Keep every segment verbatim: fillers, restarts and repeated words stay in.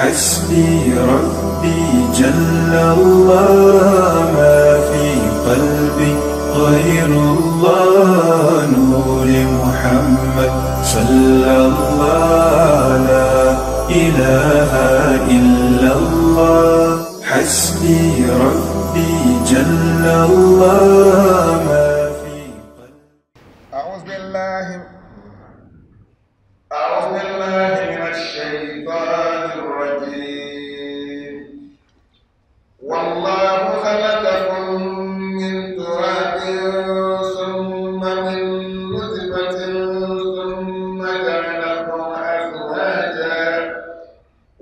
حسبي ربي جل الله ما في قلبي غير الله نور محمد صلى الله لا إله إلا الله حسبي ربي جل الله ما في قلبي. أعوذ بالله أعوذ بالله من الشيطان الرجيم. والله خلقكم من تراب ثم من نطفة ثم جعلكم أزواجا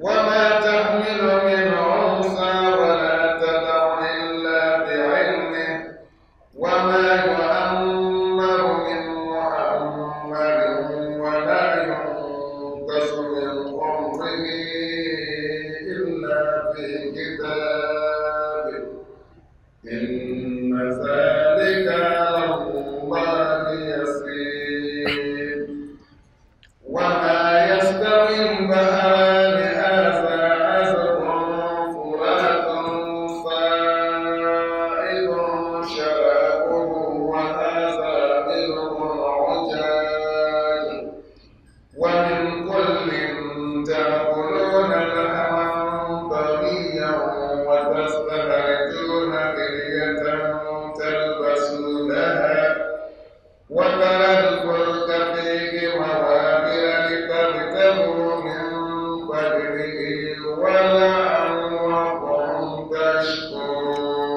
وما تحمل من أنثى ولا تضع إلا بعلمه وما يؤمر من مؤمر ولا ينقص من عمره إلا في كتاب إن ذلك على الله يسير. وما يستوي البحران هذا عذب فرات سائغ شرابه وهذا ملح عجاج ومن كل تأكلون لحما طريا وتستخرجون حلية تلبسونها وترى الفلك فيه مواخر لتبتغوا من فضله ولعلكم تشكرون.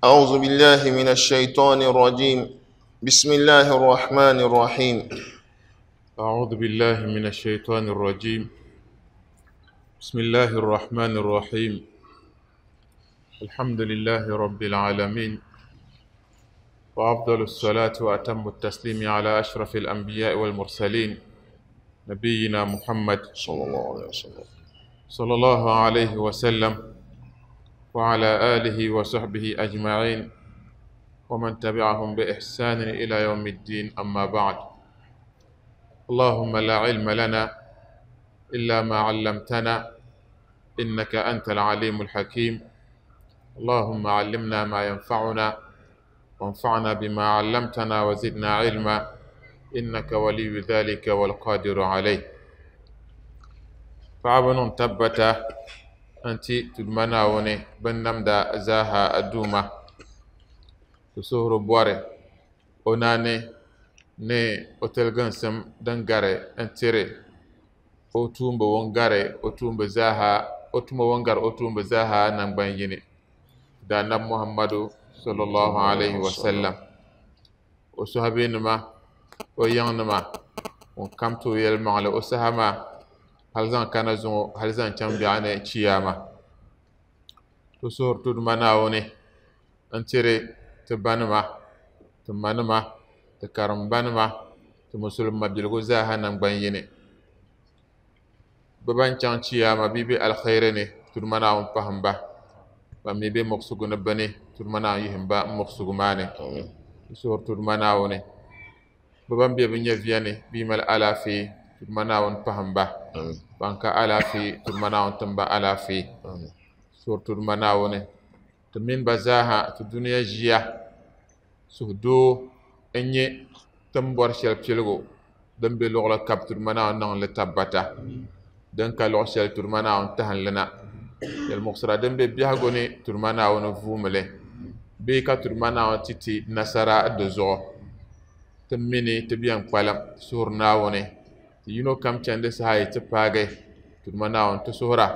أعوذ بالله من الشيطان الرجيم. بسم الله الرحمن الرحيم. أعوذ بالله من الشيطان الرجيم. بسم الله الرحمن الرحيم. الحمد لله رب العالمين، وأفضل الصلاة وأتم التسليم على أشرف الأنبياء والمرسلين، نبينا محمد صلى الله عليه وسلم صلى الله عليه وسلم، وعلى آله وصحبه أجمعين ومن تبعهم بإحسان إلى يوم الدين. أما بعد، اللهم لا علم لنا إلا ما علمتنا إنك أنت العليم الحكيم. اللهم علمنا ما ينفعنا وانفعنا بما علمتنا وزدنا علما إنك ولي ذلك والقادر عليه. فعبن تبت أنت تدمنا وني بنمدا زاها الدومة تسهر بواري أناني ne o tiliginsim din gari n-tiri o tuumba ŋun gari o tuumba zaaha o tuma ŋun gari o tuumba zaaha nangban yini da Annabi Muhammadu sallallahu alayhi wa sallam, o sahabinima o yiŋnima ŋun kam ti o yɛlimaŋli o saha maa hali zaŋ kana zuŋɔ hali zaŋ chaŋ biɛɣu ni chiyaama. Ti suhuri ti Duuma Naawuni n-tiri ti banima ti manima ti karimbanima ti musulima biligu zaaha nangban yini. Bɛ ban chaŋ chiyaama bɛ be alkhairi ni ti Duuma Naawuni pahim ba, ban mi be muɣusigu ni bini ti Duuma Naawuni yihim ba muɣusigu maa ni. Ti suhuri ti Duuma Naawuni bɛ ban be bɛ nyɛviya ni bɛ yi mali alaafee ti Duuma Naawuni pahim ba, ban ka alaafee ti Duuma Naawuni tim ba alaafee. Suhuri ti Duuma Naawuni ti mini ba zaaha ti dunia ʒiya suhudoo n-nyɛ ti ni bɔri shɛli piligu din be luɣili kam ti Duuma Naawuni niŋ li tabbata, din ka luɣ shɛli ti Duuma Naawuni tahim li na. Yɛlimuɣisira din be biɛhigu ni ti Duuma Naawuni vuumi li bee ka ti Duuma Naawuni ti ti nasara di zuɣu. Ti mini ti bɛn kpalim suhuri Naawuni ti yino kam chandi saha yi ti paagi ti Duuma Naawuni ti suhura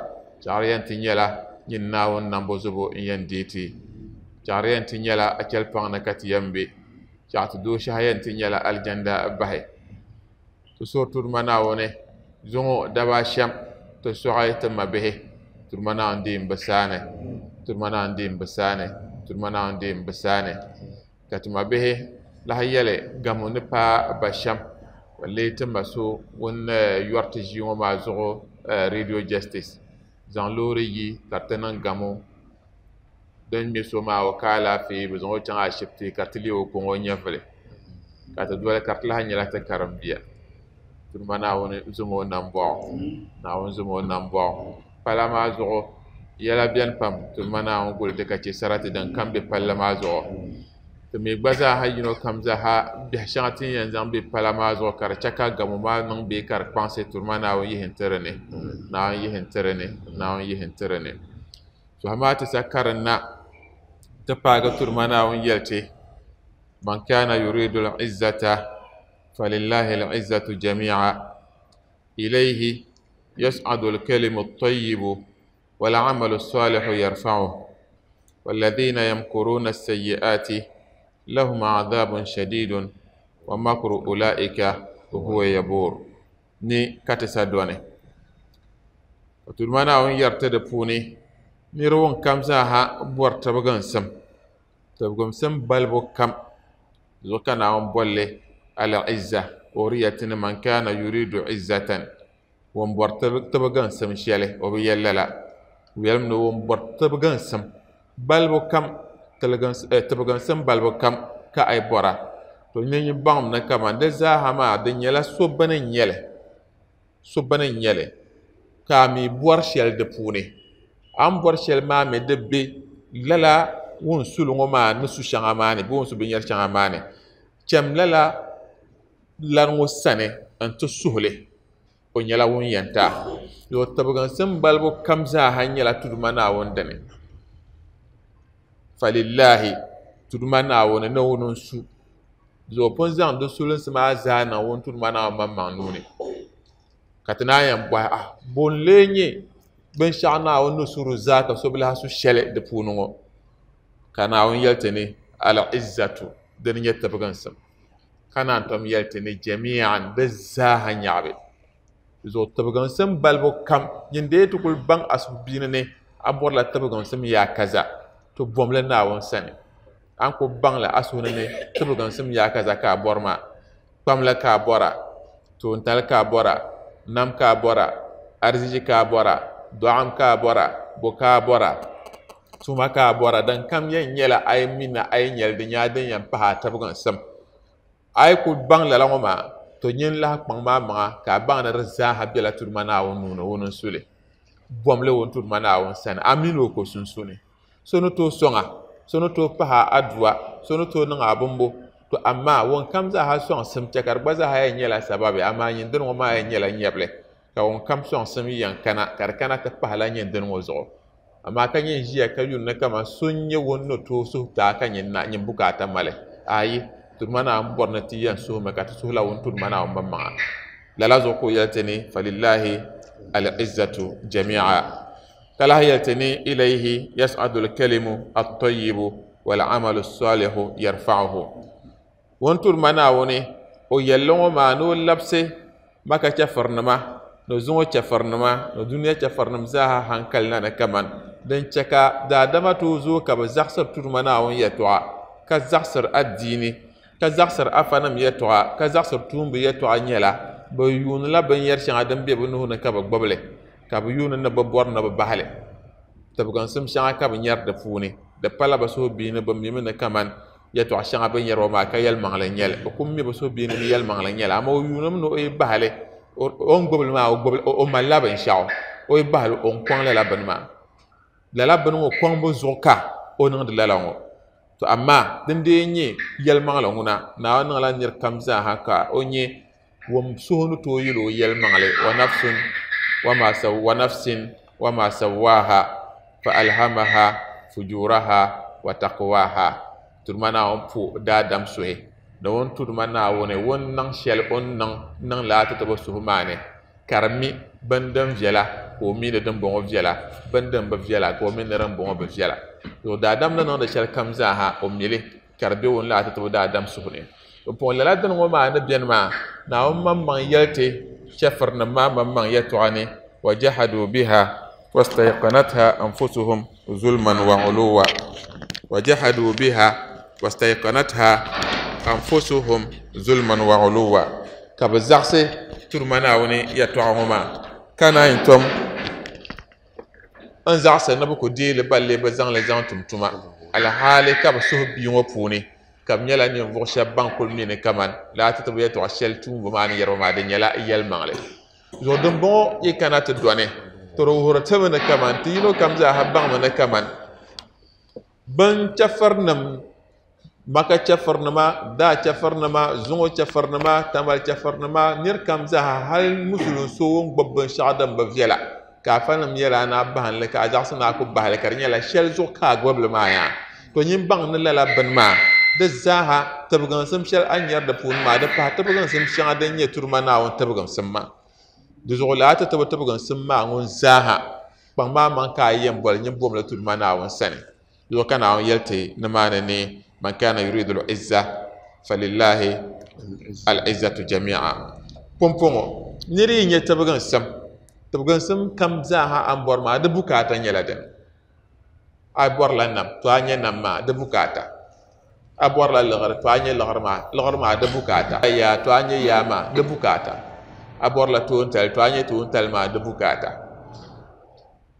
chaɣiri yɛn ti nyɛla nyin Naawuni nambo zubu n-yɛn deei ti, chaɣiri yɛn ti nyɛla a chɛli paŋ ni ka ti yɛn be, chaɣ ti dooshɛhi yɛn ti nyɛla alijanda bahi. Ti suhuri ti Duuma Naawuni zuŋɔ dabaa shɛm ti sɔɣi ti mabihi ti Duuma Naawuni deei m-bi saani, ti Duuma Naawuni deei m-bi saani, ti Duuma Naawuni deei m-bi saani. Ka ti mabihi lahi yɛli gamu ni paai ba shɛm lee ti ma so ŋun yɔri ti ʒii ŋɔ maa zuɣu Radio Justice zaŋ loori yi ka di ti niŋ gamu din ŋme so maa o ka alaafee bɛ zaŋ o chaŋ ashibiti ka ti leei o kɔŋ o nyɛvili ka ti doli ka di lahi nyɛla ti karim bia. Tudu Naawuni zom o nambɔɣu Naawuni zom o nambɔɣu pala maa zuɣu yɛla beni pam Tudu Naawuni guli ti ka che sarati din kam be palli maa zuɣu ti mi gba zaaha yino kam zaaha biɛhi shɛŋa ti ni yɛn zaŋ be pala maa zuɣu ka di che ka gamo maa niŋ bee ka di kpaŋsi Tudu Naawuni yihi n-ti di ni Naawuni yihi n-ti di ni Naawuni yihi n-ti di ni suhi maa ti sa karinna ti paagi Tudu Naawuni yɛli ti man kana yuridu al-izzata falillahi al-izzatu jami'a ilayhi yas'adu al-kalimu at-tayyibu wal-'amalu as-salihu yarfa'uhu walladhina yamkuruna as-sayyi'ati lahum 'adhabun shadidun wa makru ulaika huwa yabur ni ka ti sa dɔni Tudu Naawuni yɛri ti di puuni niriba ŋun kam zaaha bɔri tibiginsim tibiginsim balibu kam zuɣu ka Naawuni bolli al-izza o di yɛli ti ni man kana yuridu izzatan ŋun bɔri tibiginsim shɛli o bi yɛli lala o yɛlimi ni ŋun bɔri tibiginsim balibu kam tibiginsim balibu kam ka a yi bɔra to nyini baŋmi ni kaman di zaaha maa di nyɛla so bini n-nyɛli so bini n-nyɛli ka a mi bɔri shɛli di puuni a ni bɔri shɛli maa mi di be lala ŋun suli ŋɔ maa ni su shɛŋa maa ni bee ŋun su binyɛri shɛŋa maa ni chɛm lala lari ŋɔ sani n-ti suhili o nyɛla ŋun yɛn ti a yo tibiginsim balibu kam zaaha nyɛla Tudu Naawuni dini falillahi Tudu Naawuni ni ŋuni n-su zuɣu pun zaŋ di sulinsi maa zaa niŋ ŋun Tudu Naawuni maŋmaŋ nuu ni ka ti naan yɛn bɔhi ah bo n-lee nyɛ binshɛɣu Naawuni ni su di zaa ka so bi lahi su shɛli di puuni ŋɔ ka Naawuni yɛli ti ni al-izzatu dini nyɛ tibiginsim ka naan tom yɛli ti ni jami'an di zaaha nyaɣibi zuɣu tibiginsim balibu kam nyin dee ti kuli baŋ a suhubiini ni a bɔrila tibiginsim yaa kaza to bomli Naawuni sani a ni ku baŋli a suhuni ni tibiginsim yaa kaza ka a bɔri maa kpamli ka a bɔra toontali ka a bɔra nam ka a bɔra ariziki ka a bɔra dɔɣim ka a bɔra bo ka a bɔra tuma ka a bɔra din kam yɛn nyɛla a yi mi ni a yi nyɛli di nyɛla din yɛn pahi a tibiginsim a yi ku baŋ lala ŋɔ maa to nyin lahi kpaŋ maa maŋa ka a baŋ ni di zaaha bela Tudu Naawuni nuu ni ŋuni n-su li bomli ŋun Tudu Naawuni sani a mini o ko sunsuuni so ni tooi sɔŋa so ni tooi pahi a adua so ni tooi niŋ a bimbo to amaa ŋun kam zaaha sɔŋsim che ka di gba zaaha yɛn nyɛla sababi amaa nyin dini ŋɔ maa yɛn nyɛla nyɛbili ka ŋun kam sɔŋsim yɛn kana ka di kana ti pahila nyin dini ŋɔ zuɣu amaa ka nyin ʒiya ka yuli ni kaman so n-nyɛ ŋun ni tooi suhu ti a ka nyin na nyin bukaata mali ayi Tudu Naawuni bɔri ni ti yɛn suhimi ka ti suhila ŋun Tudu Naawuni maŋmaŋa lala zuɣu ka o yɛli ti ni falillahi al-izzatu jami'a ka lahi yɛli ti ni ilayhi yas'adu al-kalimu at-tayyibu wal-amalu as-salihu yarfa'uhu ŋun Tudu Naawuni o yɛlli ŋɔ maa ni o labisi Maka chɛfurinima ni zuŋɔ chɛfurinima ni dunia chɛfurinim zaaha hankali na ni kaman din che ka daadama tooi zooi ka bɛ zaɣisiri Tudu Naawuni yɛltɔɣa ka zaɣisiri adiini ka zaɣisiri afanim yɛltɔɣa ka zaɣisiri tuumbi yɛltɔɣa nyɛla bɛ yuunila binyɛri shɛŋa din be bɛ nuhi ni ka bɛ gbubili ka bɛ yuuni ni bɛ bɔri ni bɛ bahili tibiginsim shɛŋa ka bɛ nyɛri di puuni di pala bɛ suhubiini bɛ mimi ni kaman yɛltɔɣa shɛŋa bɛ nyɛri ŋɔ maa ka yɛlimaŋli n-nyɛli bɛ ku mi bɛ suhubiini ni yɛlimaŋli n-nyɛli amaa o yuunimi ni o yi bahili o ni gbubili maa o malila binshɛɣu o yi bahili o ni kɔŋ lala bini maa lala bini ŋɔ kɔŋbu zuɣu ka o niŋdi lala ŋɔ to amaa din dee nyɛ yɛlimaŋli ŋuna Naawuni niŋla niri kam zaaha ka o nyɛ ŋun suhu ni tooi yɛli o yɛlimaŋli wa nafsun wa ma saw wa nafsin wa ma sawwaha fa alhamaha fujuraha wa taqwaha Tudu Naawuni po daadam suhi ni ŋun Tudu Naawuni ŋun niŋ shɛli o ni niŋ niŋ lala ti ti bi suhu maa ni ka di mi bin din viɛla ka o mi ni din bɔŋɔ viɛla bin din bi viɛla ka o mi ni din bɔŋɔ bi viɛla to daadam ni niŋdi shɛli kam zaaha o mili ka di be ŋun lala ti ti bi daadam suhu ni pumpɔŋɔ lala dini ŋɔ maa ni beni maa Naawuni maŋmaŋ yɛli ti chɛfurinim maa maŋmaŋ yɛltɔɣa ni wa jahadu biha wastayqanatha anfusuhum zulman wa uluwa wa jahadu biha wastayqanatha anfusuhum zulman wa uluwa ka bɛ zaɣisi Tudu Naawuni yɛltɔɣa ŋɔ maa ka naan tom n zaɣisi ni bɛ ku deei li balli bɛ zaŋ li zaŋ tum tuma alhaali ka bɛ suhu bia ŋɔ puuni Ka bɛ nyɛla ninvuɣu shɛba ban kuli mi ni kaman laa ti ti bi yɛltɔɣa shɛli tuumbu maa ni yɛriba maa di nyɛla yɛlimaŋli. Zuɣu dimbɔŋɔ yi kana ti dɔni ti di wuhiri timi ni kaman ti yino kam zaaha baŋmi ni kaman bin chɛfirinim Maka chɛfirinima, daa chɛfirinima, zuŋɔ chɛfirinima, tamali chɛfirinima, niri kam zaaha hali musulin so ŋun gbubi binshɛɣu din bi viɛla ka afanim yɛla a naa bahinli ka a zaɣisi ni a ku bahili ka di nyɛla shɛli zuɣu ka a gbubili maa yaa. To nyin baŋ ni lala bini maa di zaaha tibiginsim shɛli a ni nyari di puuni maa di pahi tibiginsim shɛŋa din nyɛ turuma Naawuni tibiginsim maa. Di zuɣu lala ti tibi tibiginsim maa ŋun zaaha kpaŋ maa maŋ ka a yɛn boli nyin bomli turuma Naawuni sani. Di zuɣu ka Naawuni yɛli ti nimaani ni man kana yuridu al-izza falillahi al-izzatu jami'a. Pumpɔŋɔ niri yi nyɛ tibiginsim, tibiginsim kam zaaha a ni bɔri maa di bukaata nyɛla dini. A bɔrila nam to a nyɛ nam maa di bukaata. A bɔrila liɣiri to a nyɛ liɣiri maa, liɣiri maa di bukaata. A yaa to a nyɛ yaa maa di bukaata. A bɔrila toontali to a nyɛ toontali maa di bukaata.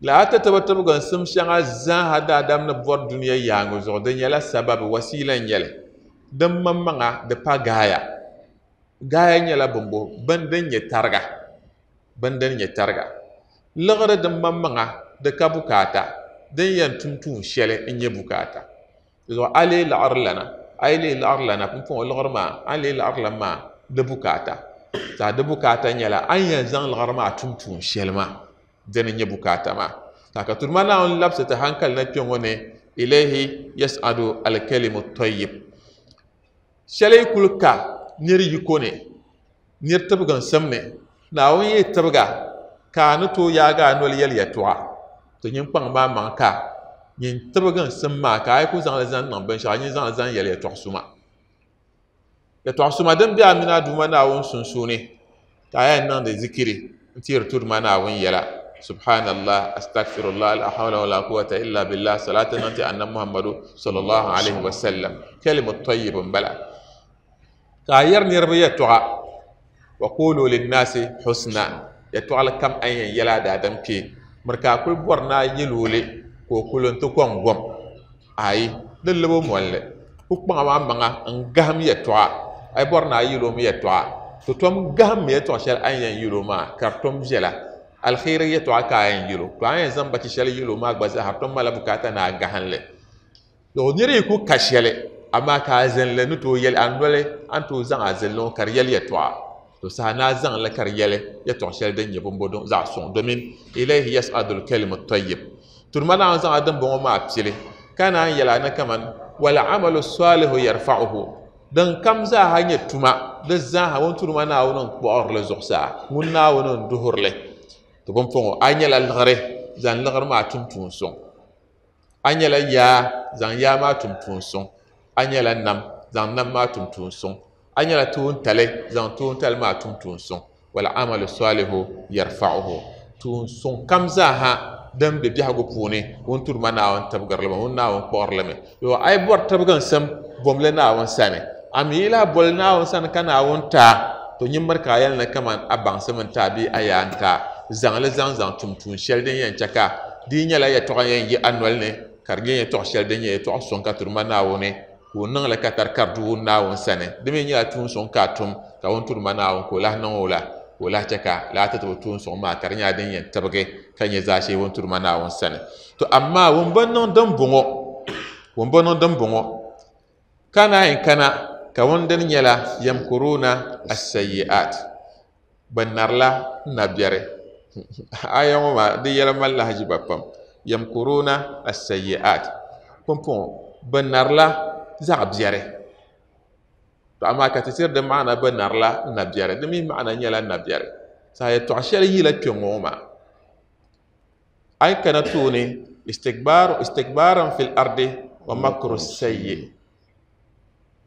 Lala ti tibi tibiginsim shɛŋa zaaha daadam ni bɔri dunia yaaŋa zuɣu di nyɛla sababi wasiila n-nyɛli. Din maŋmaŋa di pa gaaya. Gaaya nyɛla bimbo bin din nyɛ tariga. Bin din nyɛ tariga. Liɣiri din maŋmaŋa di ka bukaata. Din yɛn tum tuun shɛli n-nyɛ bukaata. Di zuɣu a lee laɣiri lana, a yi lee laɣiri lana pumpɔŋɔ liɣiri maa, a ni lee laɣiri lana maa di bukaata. Saa di bukaata nyɛla a ni yɛn zaŋ liɣiri maa tum tuun shɛli maa dini nyɛ bukaata maa. Ta ka turuma Naawuni labisi ti hankali na kpɛ ŋɔ ni ilayhi yas'adu al-kalimu tayyib. Shɛli yi kuli ka niri yiko ni, niri tibiginsim ni, Naawuni yi tibiga ka a ni tooi yaagi a noli yɛli yɛltɔɣa. To nyin kpaŋ maa maŋ ka nyin tibiginsim maa ka a yi ku zaŋli zaŋ niŋ binshɛɣu, nyin zaŋli zaŋ yɛli yɛltɔɣa suma. Yɛltɔɣa suma din be a mini a Duuma Naawuni sunsuuni ka a yɛn niŋdi zikiri n-teeri Turuma Naawuni yɛla. Subhanallah, astaghfirullah, la hawla wala quwwata illa billah, salatu nanti anna Muhammadu sallallahu alaihi wa sallam. Kalimu tayyib bala. Ka yɛri niriba yɛltɔɣa wa qulu linnasi husna. Yɛltɔɣali kam a yɛn yɛla daadam kpee. Miri ka a kuli bɔri ni a yɛl o li ka o kuli n-ti kɔŋ gom. Ayi, di libi molli. Ku kpaŋa maa maŋa n-gahim yɛltɔɣa. A yi bɔri ni a yɛl o mi yɛltɔɣa. To tom gahim mi yɛltɔɣa shɛli a ni yɛn yɛl o maa ka di tom viɛla. Alkhairi yɛltɔɣa ka a yɛn yɛl o. To a yɛn zaŋ bachi shɛli yɛl o maa gba zaa tom mali bukaata ni a gahinli. To niri yi ku ka shɛli, amaa ka a zinli ni tooi yɛli a noli, a ni tooi zaŋ a zinli ŋɔ ka di yɛli yɛltɔɣa. To saha ni a zaŋ li ka di yɛli yɛltɔɣa shɛli din nyɛ bimbo din zaɣ suŋ domin ilayhi yas'adu al-kalimu tayyib. Turuma Naawuni zaŋ a dimbɔŋɔ maa pili ka naan yɛli a ni kaman wal amalu salihu yarfa'uhu. Din kam zaaha nyɛ tuma, di zaaha ŋun Turuma Naawuni n-kpuɣirili zuɣusaa, ŋun Naawuni n-duhirili. To pumpɔŋɔ a nyɛla liɣiri, zaŋ liɣiri maa tum tuun suŋ. A nyɛla yaa, zaŋ yaa maa tum tuun suŋ. A nyɛla nam, zaŋ nam maa tum tuun suŋ. A nyɛla tuuntali, zaŋ tuuntali maa tum tuun suŋ. Wal amalu salihu yarfa'uhu. Tuun suŋ kam zaaha din be biɛhigu puuni, ŋun Turuma Naawuni tibigirili mi, ŋun Naawuni kpuɣirili mi. Yo, a yi bɔri tibiginsim, bomli Naawuni sani. A mi yi lahi boli Naawuni sani ka Naawuni taa, to nyin miri ka a yɛli ni kaman a baŋsim n-taa bee a yaa n-taa. Zaŋli zaŋ zaŋ tum tuun shɛli din yɛn chɛ ka di yi nyɛla yɛltɔɣa yɛn yi a noli ni ka di nyɛ yɛltɔɣa shɛli din nyɛ yɛltɔɣa suŋ ka Turuma Naawuni ka o niŋli ka tari ka di du Naawuni sani. Di mi nyɛla tuun suŋ ka a tum ka ŋun Turuma Naawuni ka o lahi niŋ o la, ka o lahi chɛ ka lala ti tibi tuun suŋ maa ka di nyɛla din yɛn tibigi ka nyɛ zaashee ŋun Turuma Naawuni sani. To amaa ŋun bi niŋ din bɔŋɔ, ŋun bi niŋ din bɔŋɔ ka naan yi kana ka ŋun dini nyɛla yamkuruna as-sayyi'at. Bɛ narila nabiɛri. Aya ŋɔ maa di yɛla mali lahaʒiba pam. Yamkuruna as-sayyi'at. Pumpɔŋɔ bɛ narila zaɣ biɛri. To amaa ka ti tiri di maana bɛ narila nabiɛri. Di mi maana nyɛla nabiɛri. Saha yɛltɔɣa shɛli yila kpɛ ŋɔ maa. A yi kana tooni istikbaaru, istikbaaran fil ardi wa makru sayyi.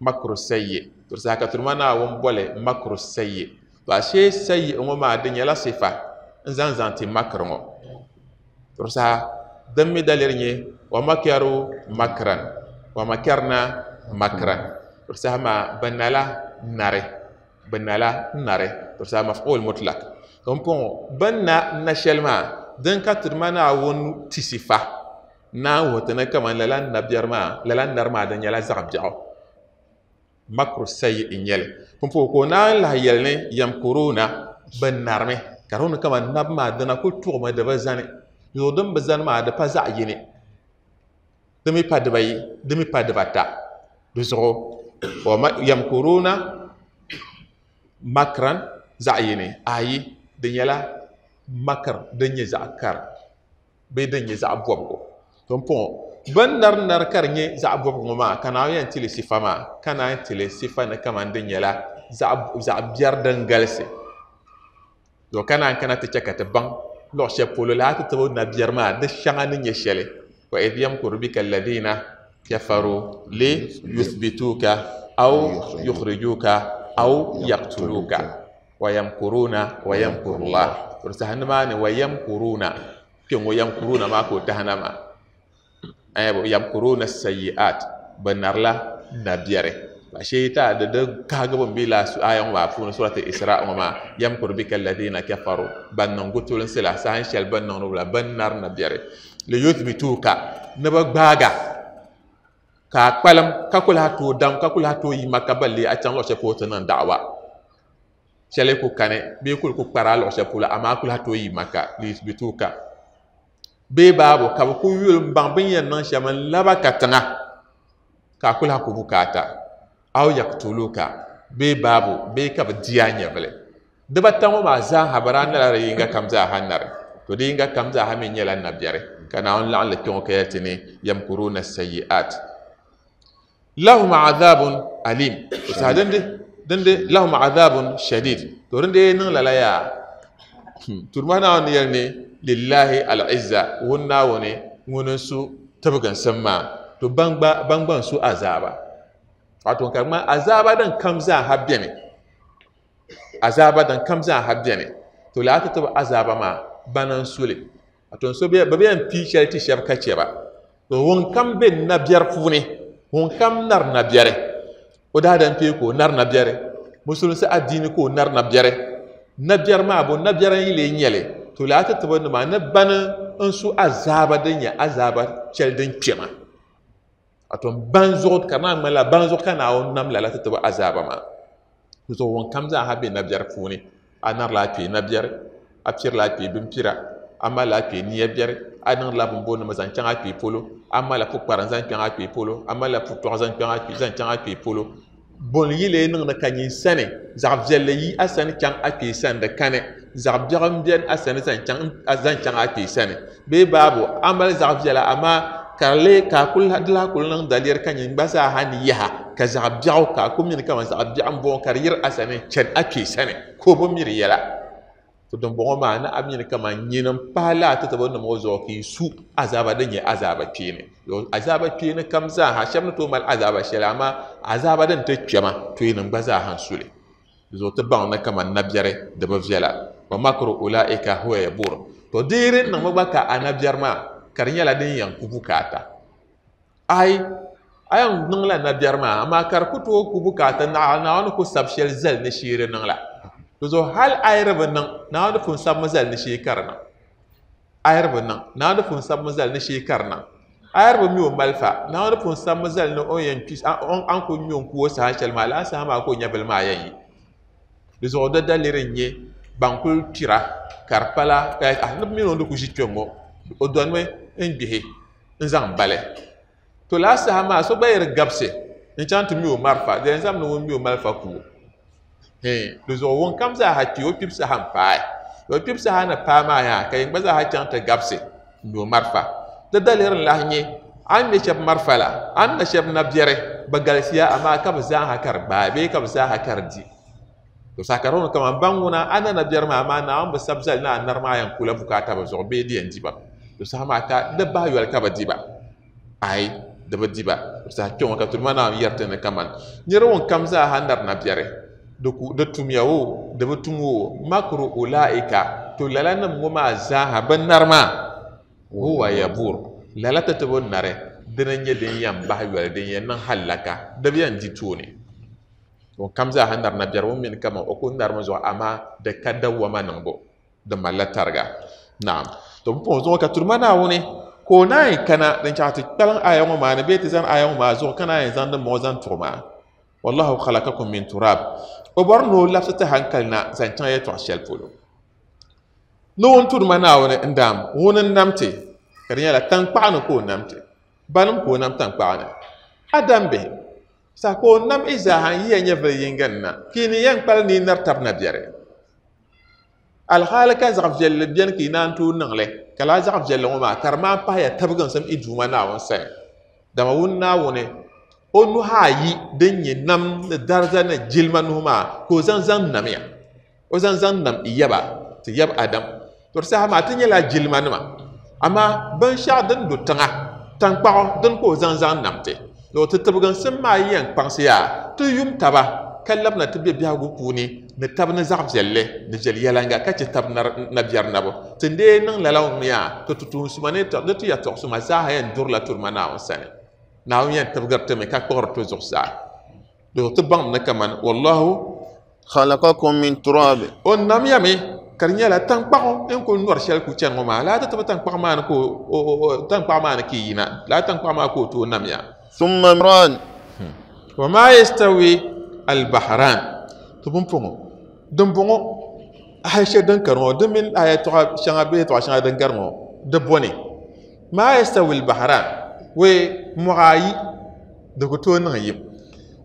Makru sayyi. To saha ka Turuma Naawuni boli makru sayyi. To ashee sayyi ŋɔ maa di nyɛla sifa n zaŋ zaŋ ti makri ŋɔ. To saha din mi daliri nyɛ wa makaru makran wa makarna makran. To saha maa bɛ nala nari, bɛ nala nari. To saha maf'ul mutlaq. To m-pɔŋɔ bɛ na na shɛli maa din ka Turuma Naawuni ti sifa naan wuhi ti ni kaman lala nabiɛri maa, lala nari maa di nyɛla zaɣ biɛɣu. Makru sayi n nyɛli pumpɔŋɔ ka o naan lahi yɛli ni yamkuruna bɛ narimi ka di wuni kaman nabi maa dina kuli tuɣimi di bi zani zuɣu din bi zani maa di pa zaɣ yini di mi pa dibayi di mi pa dibata di zuɣu yamkuruna makran zaɣ yini ayi di nyɛla makr din nyɛ zaɣ kari bee din nyɛ zaɣ bɔbigu pumpɔŋɔ bin nari nari ka di nyɛ zaɣ bɔbigu ŋɔ maa ka naawuni yɛn tili sifa maa ka naan tili sifa ni kaman di nyɛla zaɣ biɛri din galisi to ka naan kana ti chɛ ka ti baŋ luɣ shɛli polo laa ti tibi nabiɛri maa di shɛŋa ni nyɛ shɛli wa idh yamkuru bika alladhina kafaru li yuthbituka aw yukhrijuka aw yaqtuluka wa yamkuruna wa yamkurullah to saha nimaani wa yamkuruna kpɛŋɔ yamkuruna maa ka o tahana maa yamkuruna sayiat bɛ narila nabiɛri ashe ta da da kaga ban bila su ayan wa puuni surati Isra ŋɔ maa yamkuru bika alladhina kafaru ban niŋ gutulinsi la sahan shɛli ban niŋdi la ban nari nabiɛri li yuthbituka ni bi gbaaga ka a kpalim ka ku lahi tooi dam ka ku lahi tooi yi Maka balli a chaŋ luɣ shɛli polo ti niŋ da'wa shɛli ku kani bee kuli ku kpara luɣ shɛli polo amaa ku lahi tooi yi Maka li yuthbituka bee baabu ka bi ku yuli n baŋ bin yɛn niŋ shɛm n laba ka tiŋa ka a ku lahi ku bukaata aw yaqtuluka bee baabu bee ka bi di a nyɛvili dibata ŋɔ maa zaaha bi daa nala di yinga kam zaaha nari to di yinga kam zaaha mi nyɛla nabiɛri ka Naawuni laɣim li kpɛŋɔ ka yɛli ti ni yamkuruna sayiat lahum adhabun alim to saha dindi dindi lahum adhabun shadid to dindi niŋ lala yaa turuma Naawuni yɛli ni lillahi al-izza ŋun Naawuni ŋuni n su tibiginsim maa to ban gba ban gba n su azaaba wato ka ŋma azaaba din kam zaaha beni azaaba din kam zaaha beni to laa ti tibi azaaba maa bana n suli wato so bi bi yɛn pii shɛli ti shɛba ka chɛ ba to ŋun kam be nabiɛri puuni ŋun kam nari nabiɛri o daadam kpee ka o nari nabiɛri musulinsi adiini ka o nari nabiɛri nabiɛri maa bo nabiɛri n yi lee nyɛli to laa ti tibi nima ni bani n su azaaba din nyɛ azaaba shɛli din kpɛma wato ban zuɣu ka naa ŋmanila ban zuɣu ka Naawuni nam lala ti tibi azaaba maa zuɣu ŋun kam zaaha be nabiɛri puuni a narila a kpee nabiɛri a pirila a kpee binpira a malila a kpee niya biɛri a niŋdila binboonima zaŋ chaŋ a kpee polo a malila pukpara zaŋ chaŋ a kpee polo a malila putɔɣu zaŋ chaŋ a kpee zaŋ chaŋ a kpee polo bon yi lee niŋdi ka nyin sani zaɣ viɛlli yi a sani chaŋ a kpee sani di kani zaɣ biɛɣu n bɛni a sani zaŋ chaŋ zaŋ chaŋ a kpee sani bee baabu a mali zaɣ viɛla amaa ka di lee ka a kuli di lahi kuli niŋ daliri ka nyin gba zaaha ni yaha ka zaɣ biɛɣu ka a ku mini kaman zaɣ biɛɣu n bɔŋɔ ka di yiri a sani chani a kpee sani ka o bi miri yɛla to dimbɔŋɔ maa ni a mini kaman nyini n pahi laa ti tibi nim ŋɔ zuɣu ka yi su azaaba din nyɛ azaaba kpeeni azaaba kpeeni kam zaaha shɛba ni tooi mali azaaba shɛli amaa azaaba din ti kpɛma to yinim gba zaaha n suli zuɣu ti baŋ ni kaman nabiɛri di bi viɛla wa makru ulaika huwa yabur to deeri niŋmi gba ka a nabiɛri maa ka di nyɛla din yɛn ku bukaata ai a yɛn niŋla nabiɛri maa amaa ka di ku tooi ku bukaata Naawuni ku sabi shɛli zali ni sheeri niŋ la to zuɣu hali a yi di bi niŋ Naawuni pun sabimi zali ni shee ka di niŋ a yi di bi niŋ Naawuni pun sabimi zali ni shee ka di niŋ a yi di bi mi o malifa Naawuni pun sabimi zali ni o yɛn kpi an ku mi o n ku o saha shɛli maa laa saha maa ka o nyɛvili maa yɛn yi di zuɣu di daliri n nyɛ ban kuli kpira ka di pala ni mini o ni ku ʒi kpɛŋɔ o donimi n gbihi n zaŋ bali to laa saha maa so gba yi di gabisi n chaŋ ti mi o malifa di yɛn zaŋmi ni ŋun mi o malifa ku o di zuɣu ŋun kam zaaha kpi o kpibu saha n paai o kpibu saha ni paai maa yaa ka yin gba zaaha chaŋ ti gabisi n mi o malifa di daliri n lahi nyɛ a ni ŋmɛ shɛba malifa la a ni na shɛba nabiɛri bi galisiya amaa ka bi zaaha ka di gbaai bee ka bi zaaha ka di di to saha ka di kaman ban ŋuna a na nabiɛri maa amaa Naawuni bi sabi zali ni a nari maa yɛn kula bukaata bi zuɣu bee di yɛn di ba to saha maa ka di bahi yoli ka bi di ba ai di bi di ba to saha kpɛŋɔ ka turuma Naawuni yɛri ti ni kaman nira ŋun kam zaaha nari nabiɛri di ku di tumya o di bi tum o makru ulaika to lala nim ŋɔ maa zaaha bi nari maa huwa yabur lala ti ti bi nari dini n nyɛ din yɛn bahi yoli din yɛn niŋ halaka di bi yɛn di tooni ŋun kam zaaha nari nabiɛri ŋun mini kaman o ku narimi zuɣu amaa di ka dawama niŋbu di malila tariga naam to pumpɔŋɔ zuɣu ka turuma Naawuni ka o naan kana din chaŋ ti kpaliŋ aya ŋɔ maa ni bee ti zani aya ŋɔ maa zuɣu ka naan zaŋ dimbɔŋɔ zaŋ tuɣi maa Wallahu khalaqakum min turab. O bɔri ni o labisi ti hankali na zaŋ chaŋ yɛltɔɣa shɛli polo. Ni ŋun tudu ma Naawuni n daam ŋuni n nam ti ka di nyɛla tankpaɣu ni ka o nam ti banim ka o nam tankpaɣu ni Adam bihi sa ka o nam i zaaha n yiya nyɛvili yinga ni na ka i ni yɛn kpali ni i nari tabi na biɛri alhaali ka zaɣ viɛlli biɛni ka i naan tooi niŋli ka laa zaɣ viɛlli ŋɔ maa ka di maan pahiya tabiginsim i duuma Naawuni sani dama ŋun Naawuni o nuhi ayi din nyɛ nam ni dariza ni jilima nuhi maa ka o zaŋ zaŋ namya o zaŋ zaŋ nam i yaba ti yab Adam to di saha maa ti nyɛla jilima nima amaa binshaɣu din do tiŋa tankpaɣu din ka o zaŋ zaŋ nam ti to ti tibiginsim maa yɛn kpaŋsi yaa ti yum taba ka labina ti be biɛhigu puuni ni tabi ni zaɣ viɛlli ni viɛl yɛlanga ka chɛ tabi nabiɛri nabu ti dee niŋ lala ŋɔ yaa ti tuun suma ni ti yɛltɔɣa suma zaaha yɛn durila turima Naawuni sani Naawuni yɛn tibigiri ti mi ka kpuɣiri ti zuɣusaa do ti baŋ ni kaman wallahu khalaqakum min turab o namya mi ka di nyɛla tankpaɣu n kuli nɔri shɛli ku chani ŋɔ maa laa ti tibi tankpaɣu maa ni ka o tankpaɣu maa ni ka i yina laa tankpaɣu maa ka o tooi namya thumma imran wa ma yastawi al-bahran to pumpɔŋɔ din bɔŋɔ aya shɛli din kari ŋɔ di mini aya tɔɣa shɛŋa bee yɛltɔɣa shɛŋa din gari ŋɔ di bɔni ma yastawi al-bahran we mɔɣa ayi di ku tooi niŋ yim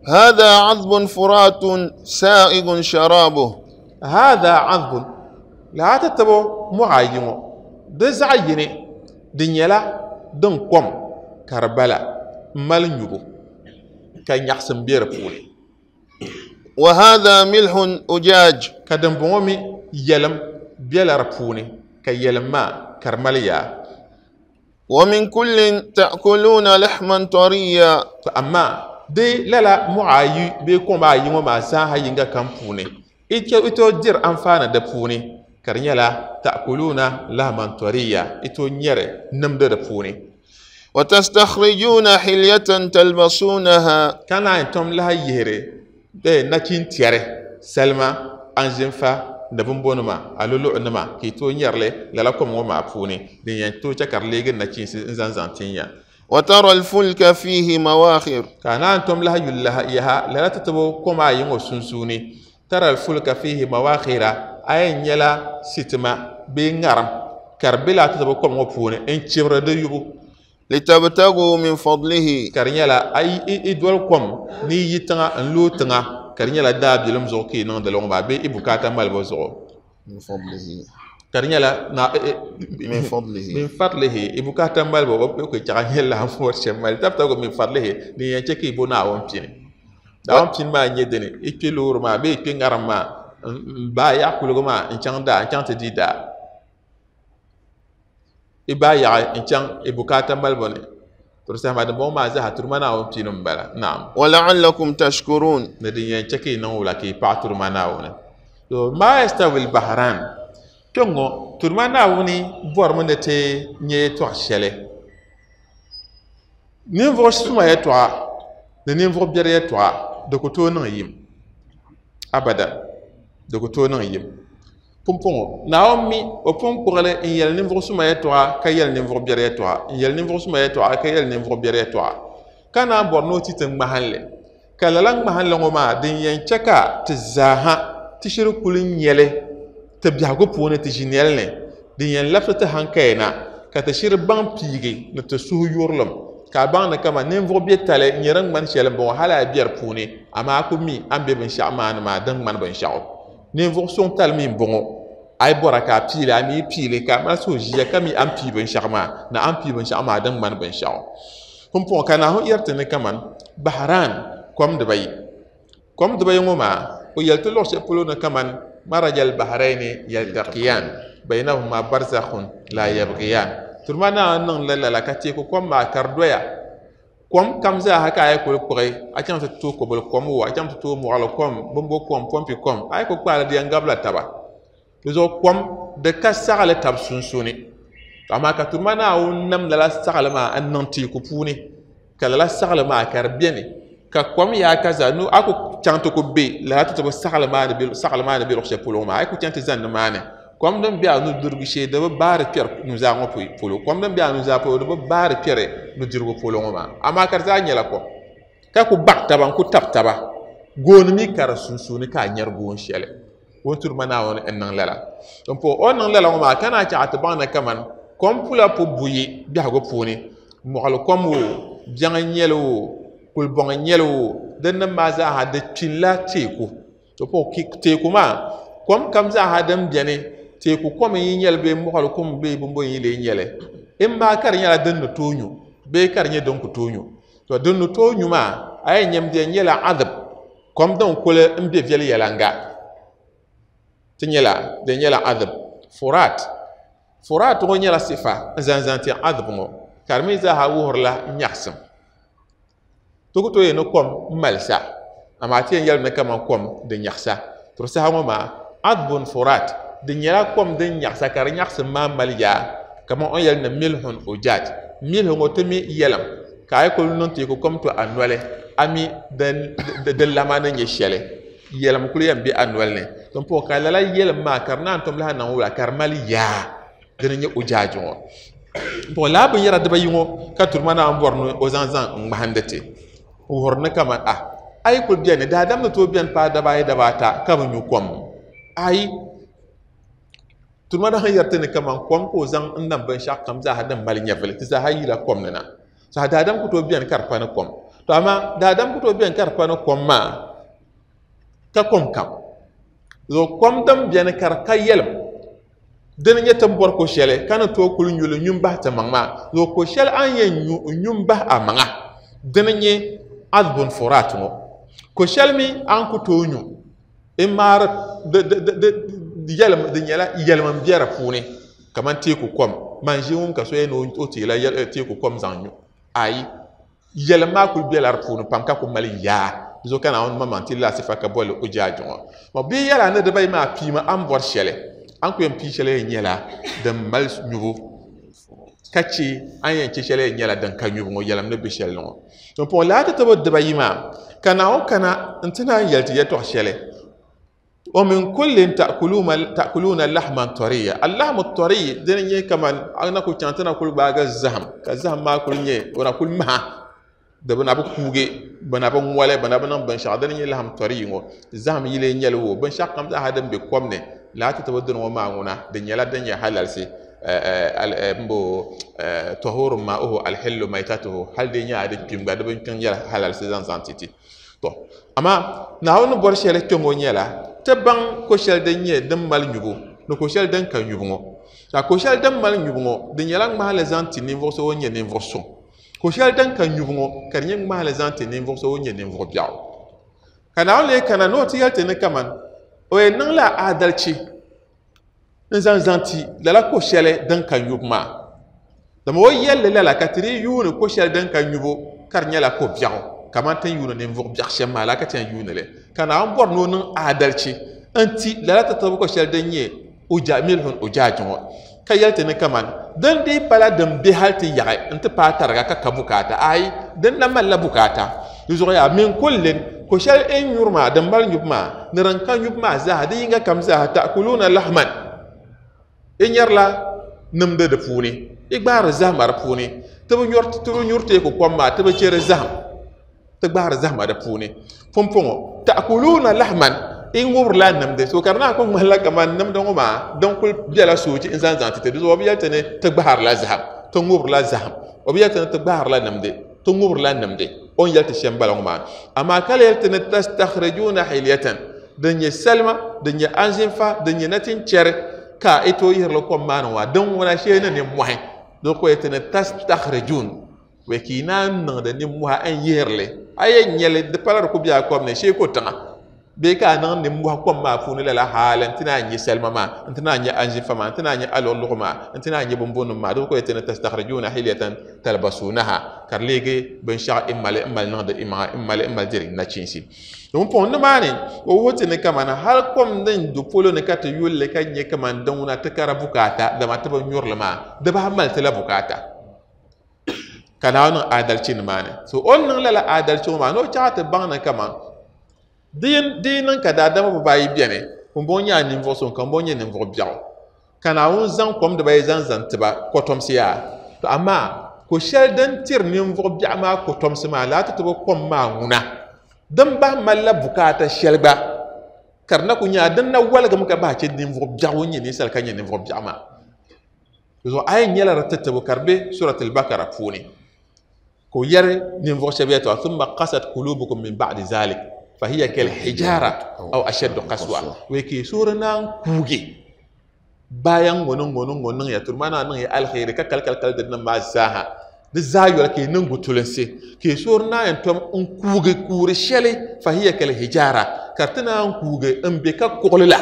هذا عذب فرات سائغ شرابه هذا عذب laa ti tibi mɔɣa ayi ŋɔ di zaɣ yini di nyɛla din kom ka di bala n mali nyubu ka nyaɣasim be di puuni وهذا ملح أجاج ka din bɔŋɔ mi yɛlim bela di puuni ka yɛlim maa ka di mali yaa ومن كل تأكلون لحما طريا to amaa di lala mɔɣa ayi bee kom ayi ŋɔ maa zaaha yinga kam puuni i tooi diri anfaani di puuni ka di nyɛla ta'kuluna lahman tariya i tooi nyɛri nimdi di puuni وتستخرجون حلية تلبسونها ka naan tom lahi yihiri nachin tiɛri salima anzinfa ni binbonima aluluɣunima ka i tooi nyɛrili lala kom ŋɔ maa puuni din yɛn tooi chɛ ka di leegi nachiinsi n zaŋ zaŋ tin ya وترى الفلك فيه مواخر ka naan tom lahi yuli yaha lala ti tibi kom ayi ŋɔ sunsuuni tara alfulka fihi mawakhira a yɛn nyɛla sitima bee ŋarim ka di be laa ti tibi kom ŋɔ puuni n chibiri di yubu لتبتغوا من فضله ka di nyɛla a i doli kom ni i yi tiŋa n looi tiŋa ka di nyɛla daabilim zuɣu ka i niŋdi li ŋɔ maa bee i bukaata malibu zuɣu من فضله ka di nyɛla na من فضله min fadlihi i bukaata malibu o ko chaɣa nyɛ lahi bɔri shɛm mali tabtagu min fadlihi din yɛn chɛ ka i bo Naawuni pini Naawuni pini maa n nyɛ dini i kpe loori maa bee i kpe ŋarim maa n baa yaɣa kuligu maa n chaŋ daa n chaŋ ti di daa i baa yaɣi n chaŋ i bukaata malibu ni to di saha maa dimbɔŋɔ maa zaaha turuma Naawuni pini n bala naam ولعلكم تشكرون ni din yɛn chɛ ka i niŋ wula ka i paɣa turuma Naawuni to ma yastawi al-bahran kpɛŋɔ turuma Naawuni bɔrimi ni ti nyɛ yɛltɔɣa shɛli ninvuɣu suma yɛltɔɣa ni ninvuɣu biɛri yɛltɔɣa di ku tooi niŋ yim abada di ku tooi niŋ yim pumpɔŋɔ Naawuni mi o pun kpuɣili n yɛli ninvuɣu suma yɛltɔɣa ka yɛli ninvuɣu biɛri yɛltɔɣa n yɛli ninvuɣu suma yɛltɔɣa ka yɛli ninvuɣu biɛri yɛltɔɣa ka naan bɔri ni o ti ti ŋmahinli ka lala ŋmahinli ŋɔ maa din yɛn chɛ ka ti zaaha ti shiri kuli nyɛli ti biɛhigu puuni ti ʒinɛli ni din yɛn labisi ti hankaya na ka ti shiri baŋ piigi ni ti suhu yurilim ka a baŋ ni kama ninvuɣu bɛ tali n nyɛ din ŋmani shɛli n bɔŋɔ hali a biɛri puuni amaa a ku mi a ni bɛ binshaɣu maa ni maa din ŋmani binshaɣu ninvuɣu suŋ tali mi n bɔŋɔ a yi bɔra ka a piili a mi yi piili ka a mali suhu ʒiya ka mi a ni pii binshaɣu maa ni a ni pii binshaɣu maa din ŋmani binshaɣu pumpɔŋɔ ka Naawuni yɛri ti ni kaman Bahran kom dibayi kom dibayi ŋɔ maa o yɛli ti luɣu shɛli polo ni kaman maraja al-bahrayni yaltaqiyan baynahuma barzakhun la yabghiyan turuma Naawuni niŋ la lala ka teeku kom maa ka di doya kom kam zaaha ka a yi kuli kpuɣi a chaŋ ti tooi kobili kom o a chaŋ ti tooi mɔɣili kom bimbo kom pompi kom a yi kuli kpaali di yɛn gabila taba di zuɣu kom di ka saɣali tabi sunsuuni amaa ka turuma Naawuni nam lala saɣali maa n niŋ teeku puuni ka lala saɣali maa ka di beni ka kom yaa ka zaa nu a ku chaŋ ti ku be lala ti tibi saɣali maa ni be saɣali maa ni be luɣu shɛli polo maa a yi ku chaŋ ti zani nimaani kom din be a nudirigu shee di bi baari kpɛri nuzaa ŋɔ polo kom din be a nuzaa polo di bi baari kpɛri nudirigu polo ŋɔ maa amaa ka di zaa nyɛla kom ka ku baɣa taba n ku tabi taba Gooni mi ka di sunsuuni ka a nyɛri goon shɛli o ni turi ma Naawuni n niŋ lala n po o niŋ lala ŋɔ maa ka naa chaɣa ti baŋ ni kaman kom pula pu buyi biɛhigu puuni mɔɣili kom o biɛŋ n nyɛli o kulibɔŋ n nyɛli o din nim maa zaaha di kpinla teeku to po teeku maa kom kam zaaha din biɛni teeku kom n yi nyɛli bee mɔɣili kom bee bimbo n yi lee nyɛli in maa ka di nyɛla din ni tooi nyu bee ka di nyɛ din ku tooi nyu to din ni tooi nyu maa a yɛn nyɛm di yɛn nyɛla adib kom din kuli n be viɛli yɛlanga ti nyɛla di nyɛla adib furat furat ŋɔ nyɛla sifa n zaŋ zaŋ ti adib ŋɔ ka di mi zaaha wuhirila nyaɣasim ti ku tooi yɛn ni kom n malisa amaa ti yɛn yɛli ni kaman kom di nyaɣasa to saha ŋɔ maa adbun furat di nyɛla kom din nyaɣasa ka di nyaɣasim maa mali yaa kaman o ni yɛli ni milhun ujaj milhu ŋɔ ti mi yɛlim ka a yi kuli niŋ teeku kom to a noli a mi di lama ni nyɛ shɛli yɛlim kuli yɛn be a noli ni to n-puhi ka lala yɛlim maa ka di naan tom lahi niŋ wula ka di mali yaa dini nyɛ ujaaji ŋɔ n-puhi lala binyɛra dibayi ŋɔ ka turi ma naan bɔri ni o zaŋ zaŋ n ŋmahindi ti n wuhiri ni kaman a a yi kuli bɛni daadam ni tooi bɛni paai daba ayi daba ata ka bi nyu kom ayi turi ma naan yɛri ti ni kaman kom ka o zaŋ n nam binshɛɣu kam zaaha din mali nyɛvili ti zaaha yila kom ni na so daadam ku tooi bɛni ka di pa ni kom to amaa daadam ku tooi bɛni ka di pa ni kom maa ka kom kam so kom din bɛni ka di ka yɛlim dini nyɛ tin bɔri ko shɛli ka ni tooi kuli nyuli nyu n bahi ti maŋ maa so ko shɛli a ni yɛn nyu n nyu n bahi a maŋa dini nyɛ adbun furat ŋɔ ko shɛli mi a ni ku tooi nyu n maari yɛlim di nyɛla yɛlim n bɛ di puuni kaman teeku kom man ʒi ŋun ka so yɛn ni o teela teeku kom zaŋ nyu ayi yɛlim maa kuli bɛla di puuni pam ka ku mali yaa di zuɣu ka Naawuni maŋmaŋ ti la sifa ka boli ujaaji ŋɔ ma bia yɛla ni dibayi maa piimi a ni bɔri shɛli a ni ku yɛn pii shɛli yɛn nyɛla din mali nyubu ka che a ni yɛn che shɛli yɛn nyɛla din ka nyubu ŋɔ yɛlim ni be shɛli ni ŋɔ to n-puhi lala ti tibi dibayi maa ka Naawuni kana n ti naan yɛli ti yɛltɔɣa shɛli ومن كل تأكلون تأكلون لحما طريا اللحم الطري دين ني كمان انا كو تشانتنا كل باغ الزهم كزهم ما كل ني ونا كل ما دبنا بو كوغي بنا بو ngwale بنا بو نان بن شا دين ني لحم طري ngo زهم يلي نيل wo بن شا كام هادم بي كوم ني لا تتودن وما غنا دين يلا دين يا حلال سي مبو طهور ماؤه الحل ميتته هل دين يا دي كيم غا دبن كان يلا حلال سي زان زان تيتي to amma naawuni bɔri shɛli kpɛ ŋɔ nyɛla ti baŋ ko shɛli din nyɛ din mali nyubu ni ko shɛli din ka nyubu ŋɔ ka ko shɛli din mali nyubu ŋɔ di nyɛla ŋmahali zaŋ ti ninvuɣu so ŋun nyɛ ninvuɣu suŋ ko shɛli din ka nyubu ŋɔ ka di nyɛ ŋmahali zaŋ ti ninvuɣu so ŋun nyɛ ninvuɣu biɛɣu ka Naawuni lee kana ni o ti yɛli ti ni kaman o yɛn niŋla adalchi n zaŋ zaŋ ti lala ko shɛli din ka nyubu maa dama o yɛlli lala ka ti di yuuni ko shɛli din ka nyubu ka di nyɛla ko biɛɣu kaman tin yuuni ninvuɣu biɛɣu shɛm maa la ka ti yɛn yuuni li ka Naawuni bɔri ni o niŋ adalchi n ti lala ti tibi ko shɛli din nyɛ uja milhun ujaaji ŋɔ ka yɛli ti ni kaman din dii pala din be hali ti yaɣi n ti paai tariga ka ka bukaata ayi din na malila bukaata di zuɣu yaa min kullin ko shɛli n nyuri maa din mali nyubu maa ni din ka nyubu maa zaaha di yinga kam zaaha ta'kuluna lahman i nyɛrila nimdi di puuni i gbaari zahama di puuni ti bi nyuri ti bi nyuri teeku kom maa ti bi cheri zaham ti gbaari zahama di puuni pumpɔŋɔ ta'kuluna lahman i ŋubirila nimdi so ka di naan ku ŋmanila kaman nimdi ŋɔ maa din kuli bɛla soochi n zaŋ zaŋ ti ti di zuɣu o bi yɛli ti ni ti gbaharila zaham ti ŋubirila zaham o bi yɛli ti ni ti gbaharila nimdi ti ŋubirila nimdi o ni yɛli ti shɛm bala ŋɔ maa amaa ka yɛli ti ni tastakhrijuna hilyatan din nyɛ salima din nyɛ anzinfa din nyɛ nachinchɛri ka i tooi yihirili kom maa ni ŋɔ din ŋuna shee ni nimmohi di ko yɛli ti ni tastakhrijun wɛ ka i naan niŋdi nimmohi n yihirili a yɛn nyɛli di pala di ku bɛ a kom ni shee ko tiŋa bee ka a niŋ nimmohi kom maa puuni lala haali n ti naan nyɛ salima maa n ti naan nyɛ anzinfa maa n ti naan nyɛ aluɣuluɣu maa n ti naan nyɛ binbunnim maa di ko yɛli ti ni tastakhrijuna hilyatan talbasunaha ka di leegi binshaɣu i mali n mali niŋdi i maŋa n mali n mali diri nachiinsi domin pɔŋ nimaani o wuhi ti ni kaman hali kom din do polo ni ka ti yulli ka nyɛ kaman din ŋuna ti kara bukaata dama ti bi nyurili maa di bahi mali ti la bukaata ka Naawuni niŋ adalchi nimaani so o ni niŋ lala adalchi ŋɔ maa ni o chaɣa ti baŋ ni kaman di yi niŋ ka daadama bibaayi bɛni ŋunbɔŋɔ nyɛla ninvuɣu suŋ ka ŋunbɔŋɔ nyɛ ninvuɣu biɛɣu ka Naawuni zaŋ kom dibayi zaŋ zaŋ tiba kotomsi yaa to amaa ko shɛli din tiri ninvuɣu biɛɣu maa kotomsi maa laa ti tibi kom maa ŋuna Din bahi malila bukaata shɛli gba ka di na ku nyɛla din na waligimi ka bahi chɛ ninvuɣu biɛɣu ŋun nyɛ ninsal ka nyɛ ninvuɣu biɛɣu maa. Zuɣu a yɛn nyɛla di titibu ka di be suratul bakara puuni ka o yɛri ninvuɣu shɛba yɛltɔɣa thumma qasat qulubukum min ba'di zalik fa hiya kal hijara aw ashaddu qaswa wai ka suuri naan kuugi bayan ŋɔ ni ŋɔ ni ŋɔ niŋ ya turi maa naa niŋ ya alkhairi ka kali kali kali di nim maa zaaha di zaa yoli ka yi niŋ gutulinsi ka yi suuri naa yɛn tom n kuugi kuuri shɛli fa hiya kal hijara ka ti naan kuugi n be ka kuɣuli la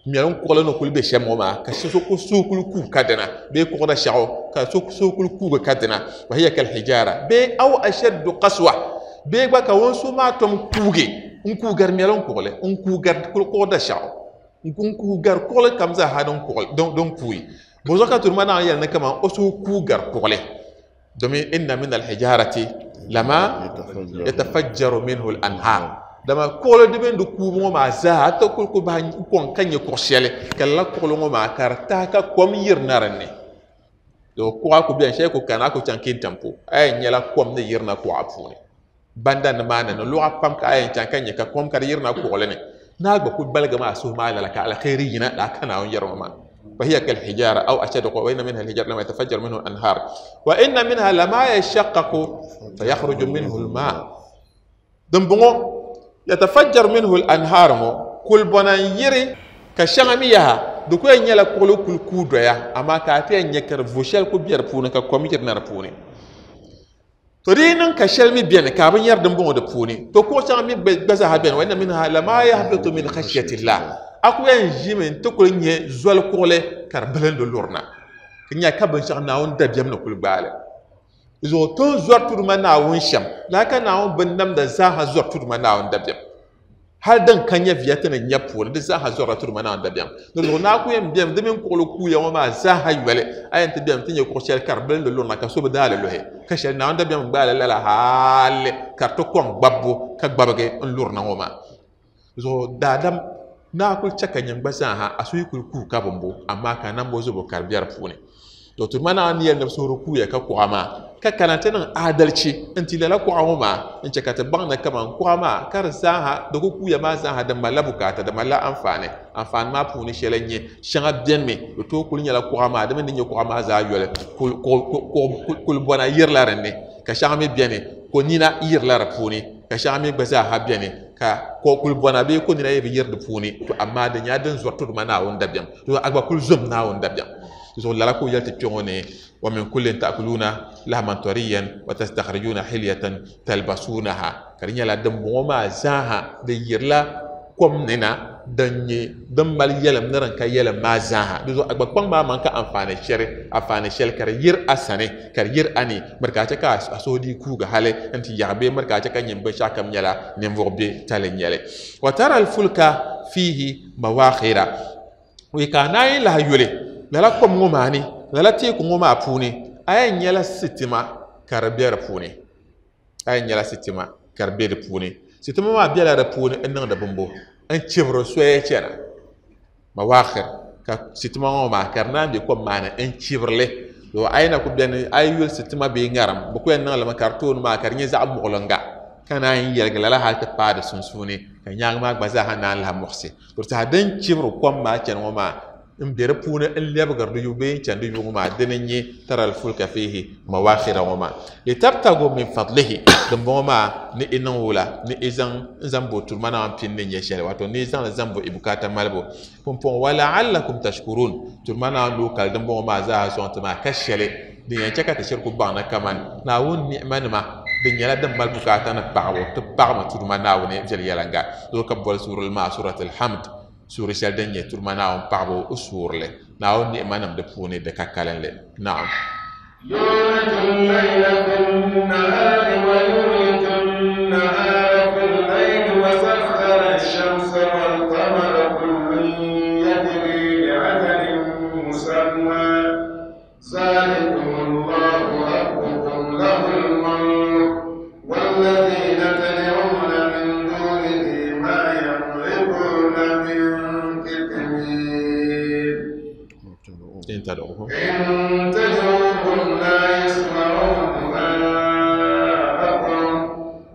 mɛli n kuɣuli ni kuli be shɛm ŋɔ maa ka so ku suhu kuli kuugi ka dina bee kuɣuda shɛɣu ka so suhu kuli kuugi ka dina fa hiya kal hijara bee aw ashaddu qaswa bee gba ka ŋun suhu maa tom kuugi n kuugari mɛli n kuɣuli n kuugari kuɣuda shɛɣu n kuugari kuɣuli kam zaa ha din kuɣuli din kuugi bozuɣu ka turi maa naan yɛli ni kaman o suhu kuugari kuɣuli domin inna min alhijarati lama yatafajjaru minhu al-anhar dama kuɣuli di mini di kuubu ŋɔ maa zaa a ti kuli ku bahi kɔŋ ka nyɛ kuɣu shɛli ka lala kuɣuli ŋɔ maa ka di tahi ka kom yirina dinni to kuɣa ku biɛni shɛli ku kana a ku chaŋ Kintampo a yɛn nyɛla kom ni yirina kuɣa puuni banda ni maa ni ni luɣa pam ka a yɛn chaŋ ka nyɛ ka kom ka di yirina kuɣuli ni naa gba ku baligi maa suhu maa lala ka alkhairi yina la ka Naawuni yɛri ŋɔ maa فهي كالحجارة أو أشد قوة وإن منها الحجارة لما يتفجر منه الأنهار وإن منها لما يشقق فيخرج منه الماء دنبغو يتفجر منه الأنهار كل بنان يري كشغميها دكو ينيلا كولو كل كودويا أما كاتي ينكر فوشل كبير بوني ككوميتر نار بوني ترينن كشلمي بيان كابن ير دنبغو دبوني تو كو شغمي بزا بيان وإن منها لما يهبط من خشية الله aku yɛn ʒimi n ti kuli nyɛ zoli kuɣuli ka di bilindi lurina ka nyɛ ka binshaɣu Naawuni dabiɛm ni kuli gbaali zuɣu ti ni zɔri tudu ma Naawuni shɛm laa ka Naawuni bin namda zaaha zɔri tudu ma Naawuni dabiɛm hali din ka nyɛ viya ti ni nyɛ puuni di zaaha zɔrila tudu ma Naawuni dabiɛm di zuɣu naa ku yɛn biɛni di mini kuɣuli kuuya ŋɔ maa zaaha yoli a yɛn ti biɛni ti nyɛ kuɣu shɛli ka di bilindi lurina ka so bi daali luhi ka shɛli Naawuni dabiɛm gbaali lala hali ka di ti kɔŋ gbabbu ka gbabigi n lurina ŋɔ maa zuɣu daadam naa kuli chɛ ka nyɛ gba zaaha a suhu kuli kuugi ka bimbo amaa ka nambo zubu ka di bɛ di puuni to turi maa naa ni yɛli ni bi suhuri kuuya ka kuɣa maa ka kana ti niŋ adalchi n ti lala kuɣa ŋɔ maa n chɛ ka ti baŋ ni kaman kuɣa maa ka di zaaha di ku kuuya maa zaaha di malila bukaata di malila anfaani anfaani maa puuni shɛli n nyɛ shɛŋa biɛni mi di tooi kuli nyɛla kuɣa maa di mini di nyɛ kuɣa maa zaa yoli kuli bɔna yirila dinni ka shɛŋa mi biɛni ko nina yirila di puuni ka shɛŋa mi gba zaaha biɛni ka ko kuli bɔna bee ko nina yi bi yiri di puuni to amaa di nyɛla din zɔri tudu ma Naawuni dabiɛm to a gba kuli zom Naawuni dabiɛm zuɣu lala ka o yɛli ti kpɛ ŋɔ ni wa min kullin ta'kuluna lahman tariyan wa tastakhrijuna hilyatan talbasunaha ka di nyɛla din bɔŋɔ maa zaaha di yirila kom ni na din nyɛ din mali yɛlim ni din ka yɛlim maa zaaha di zuɣu a gba kpaŋ maa man ka anfaani shɛli anfaani shɛli ka di yiri a sani ka di yiri a ni miri ka a chɛ ka a suhu dii kuugi hali n ti yaɣi bee miri ka a chɛ ka nyɛ binshaɣu kam nyɛla ninvuɣu bɛ tali nyɛli wa tara alfulka fihi mawakhira wai ka a naayi lahi yuli lala kom ŋɔ maa ni lala teeku ŋɔ maa puuni a yɛn nyɛla sitima ka di bɛ di puuni a yɛn nyɛla sitima ka di bɛ di puuni sitima maa bɛla di puuni n niŋdi bimbo n chibiri soya chɛna mawakhir ka sitima ŋɔ maa ka di naan bɛ kom maa ni n chibirili to a yi na ku biɛni a yi yuli sitima bee ŋarim bi ku yɛn niŋlimi ka di tooni maa ka di nyɛ zaɣ muɣulinga ka naan yɛligi lala hali ti paai di sunsuuni ka nyaangi maa gba zaaha naan lahi muɣusi to saha din chibiri kom maa chɛni ŋɔ maa n bɛ di puuni n lɛbigiri di yubu bee n chɛni di yubu ŋɔ maa dini n nyɛ taral fulka fihi mawakhira ŋɔ maa litabtagu min fadlihi din bɔŋɔ maa ni i niŋ wula ni i zaŋ n zaŋ bo turi ma Naawuni pini ni nyɛ shɛli wato ni i zaŋli zaŋ bo i bukaata malibu pumpɔŋɔ wa la'allakum tashkurun turi ma Naawuni ni o kali din bɔŋɔ maa zaaha sɔŋ ti maa ka shɛli din yɛn chɛ ka ti shiri ku baŋ ni kaman Naawuni ni'ima nima din nyɛla din mali bukaata ni paɣabu ti paɣami turi ma Naawuni viɛnyɛlinga zuɣu ka boli suurili maa suratul hamd suuri shɛli din nyɛ turi ma Naawuni paɣabu o suurili Naawuni ni'ima nim di puuni di ka kalinli naam يولج الليل في النهار ويولج النهار في الليل وسخر الشمس والقمر كل يجري لأجل مسمى ذلكم الله ربكم له الملك والذين تدعون من دونه ما يملكون من قطمير إن تدعوهم إن تدعوهم لا يسمعوا دعاءكم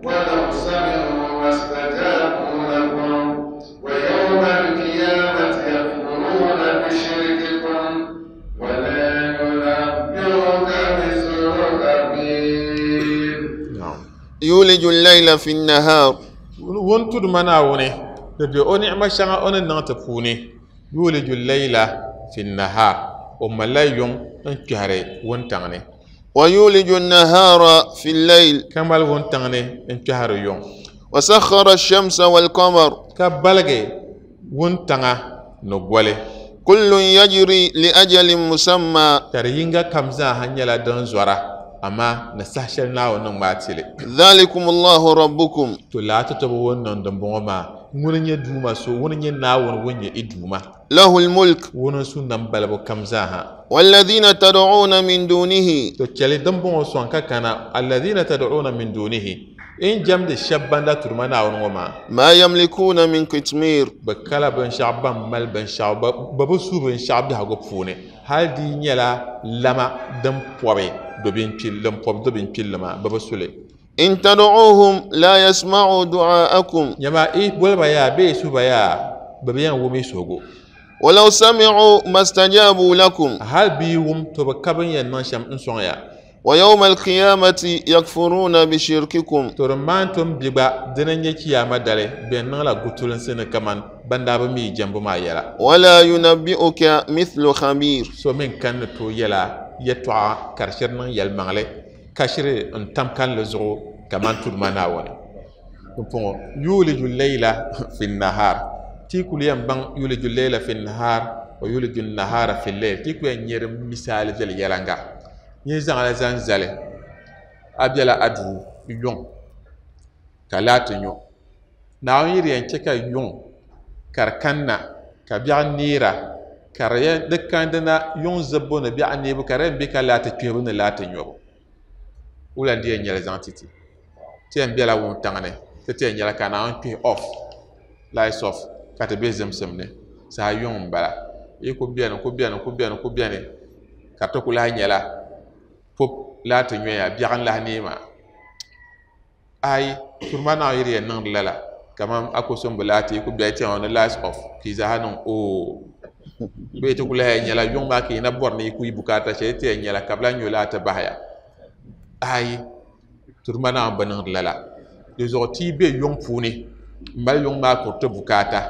ولو سمعوا ما ما استجابوا لكم ويوم القيامة يكفرون بشرككم ولا ينبئك مثل خبير. يولج الليل في النهار won tudu ma Naawuni di be o ni'ima shɛŋa o ni niŋ ti puuni yuliju leyla fi nahar o malila yuŋ n kpɛhiri wuntaŋ ni ويولج النهار في الليل ka mali wuntaŋ ni n kpɛhiri yuŋ وسخر الشمس والقمر ka baligi wuntaŋa ni goli كل يجري لأجل مسمى ka di yinga kam zaaha nyɛla din zɔra amma ni saha shɛli Naawuni ni ŋmaai tili ذلكم الله ربكم to laa ti tobi wun niŋ dimbɔŋɔ maa ŋuni nyɛ duuma so ŋuni nyɛ Naawuni ŋun nyɛ i duuma له الملك ŋuni n su nam balibu kam zaaha والذين تدعون من دونه to chɛli dimbɔŋɔ sɔŋ ka kana alladhina tad'una min dunihi in jɛmdi shɛba ban da turima Naawuni ŋɔ maa ما يملكون من قطمير bɛ kala binshɛɣu ban mali binshɛɣu bɛ bi su binshɛɣu biɛhigu puuni hali di nyɛla lama din pɔbi do din pɔbi do binkpilli maa bɛ bi suli إن تدعوهم لا يسمعوا دعاءكم nyɛma i boliba yaa bee i suhiba yaa bɛ bi yɛn wum i suhigu ولو سمعوا ما استجابوا لكم hali bɛ wum to bɛ ka bin yɛn niŋ shɛm n sɔŋ ya ويوم القيامة يكفرون بشرككم to di maan tom bi gba dini n nyɛ chiyaama dali bɛ niŋla gutulinsi ni kaman ban daa bi mi jɛmbu maa yɛla ولا ينبئك مثل خبير so min kan ni tooi yɛla yɛltɔɣa ka di shiri niŋ yɛlimaŋli ka shiri n tam kanli zuɣu kaman tudu maa Naawuni pumpɔŋɔ yuliju leyla fi nahar ti kuli yɛn baŋ yuliju leyla fi nahar wa yuliju nahara fi leyl ti ku yɛn nyɛ di misaali viɛli yɛlanga nyɛ zaŋla zaŋ zali a bɛla a duu yuŋ ka laati nyo Naawuni yi di yɛn chɛ ka yuŋ ka di kanna ka biɛɣu neera ka di yɛn di kandina yuŋ zibbu ni biɛɣu neebu ka di yɛn bɛ ka laati kpehibu ni laati nyobu wula n di yɛn nyɛli zaŋ titi ti yɛn bɛla wuntaŋ ni ti ti yɛn nyɛla ka Naawuni kpehi off lights off ka ti bɛ zimsim ni saha yuŋ n bala yi ku bɛni ku bɛni ku bɛni ku bɛni ka ti ku lahi nyɛla pop laati nyoya biɛɣu n lahi nee maa ayi turuma Naawuni yi di yɛn niŋdi lala kaman a ku sɔŋ bi laati ku bɛ tiɛŋ ni lights off ka i zaaha niŋ oo bee ti ku lahi nyɛla yuŋ maa ka yi na bɔri ni yi ku yi bukaata shɛli ti yɛn nyɛla ka bi lahi nyo laati bahaya ayi turuma Naawuni bi niŋdi lala di zuɣu ti yi bɛ yuŋ puuni n mali yuŋ maa kuriti bukaata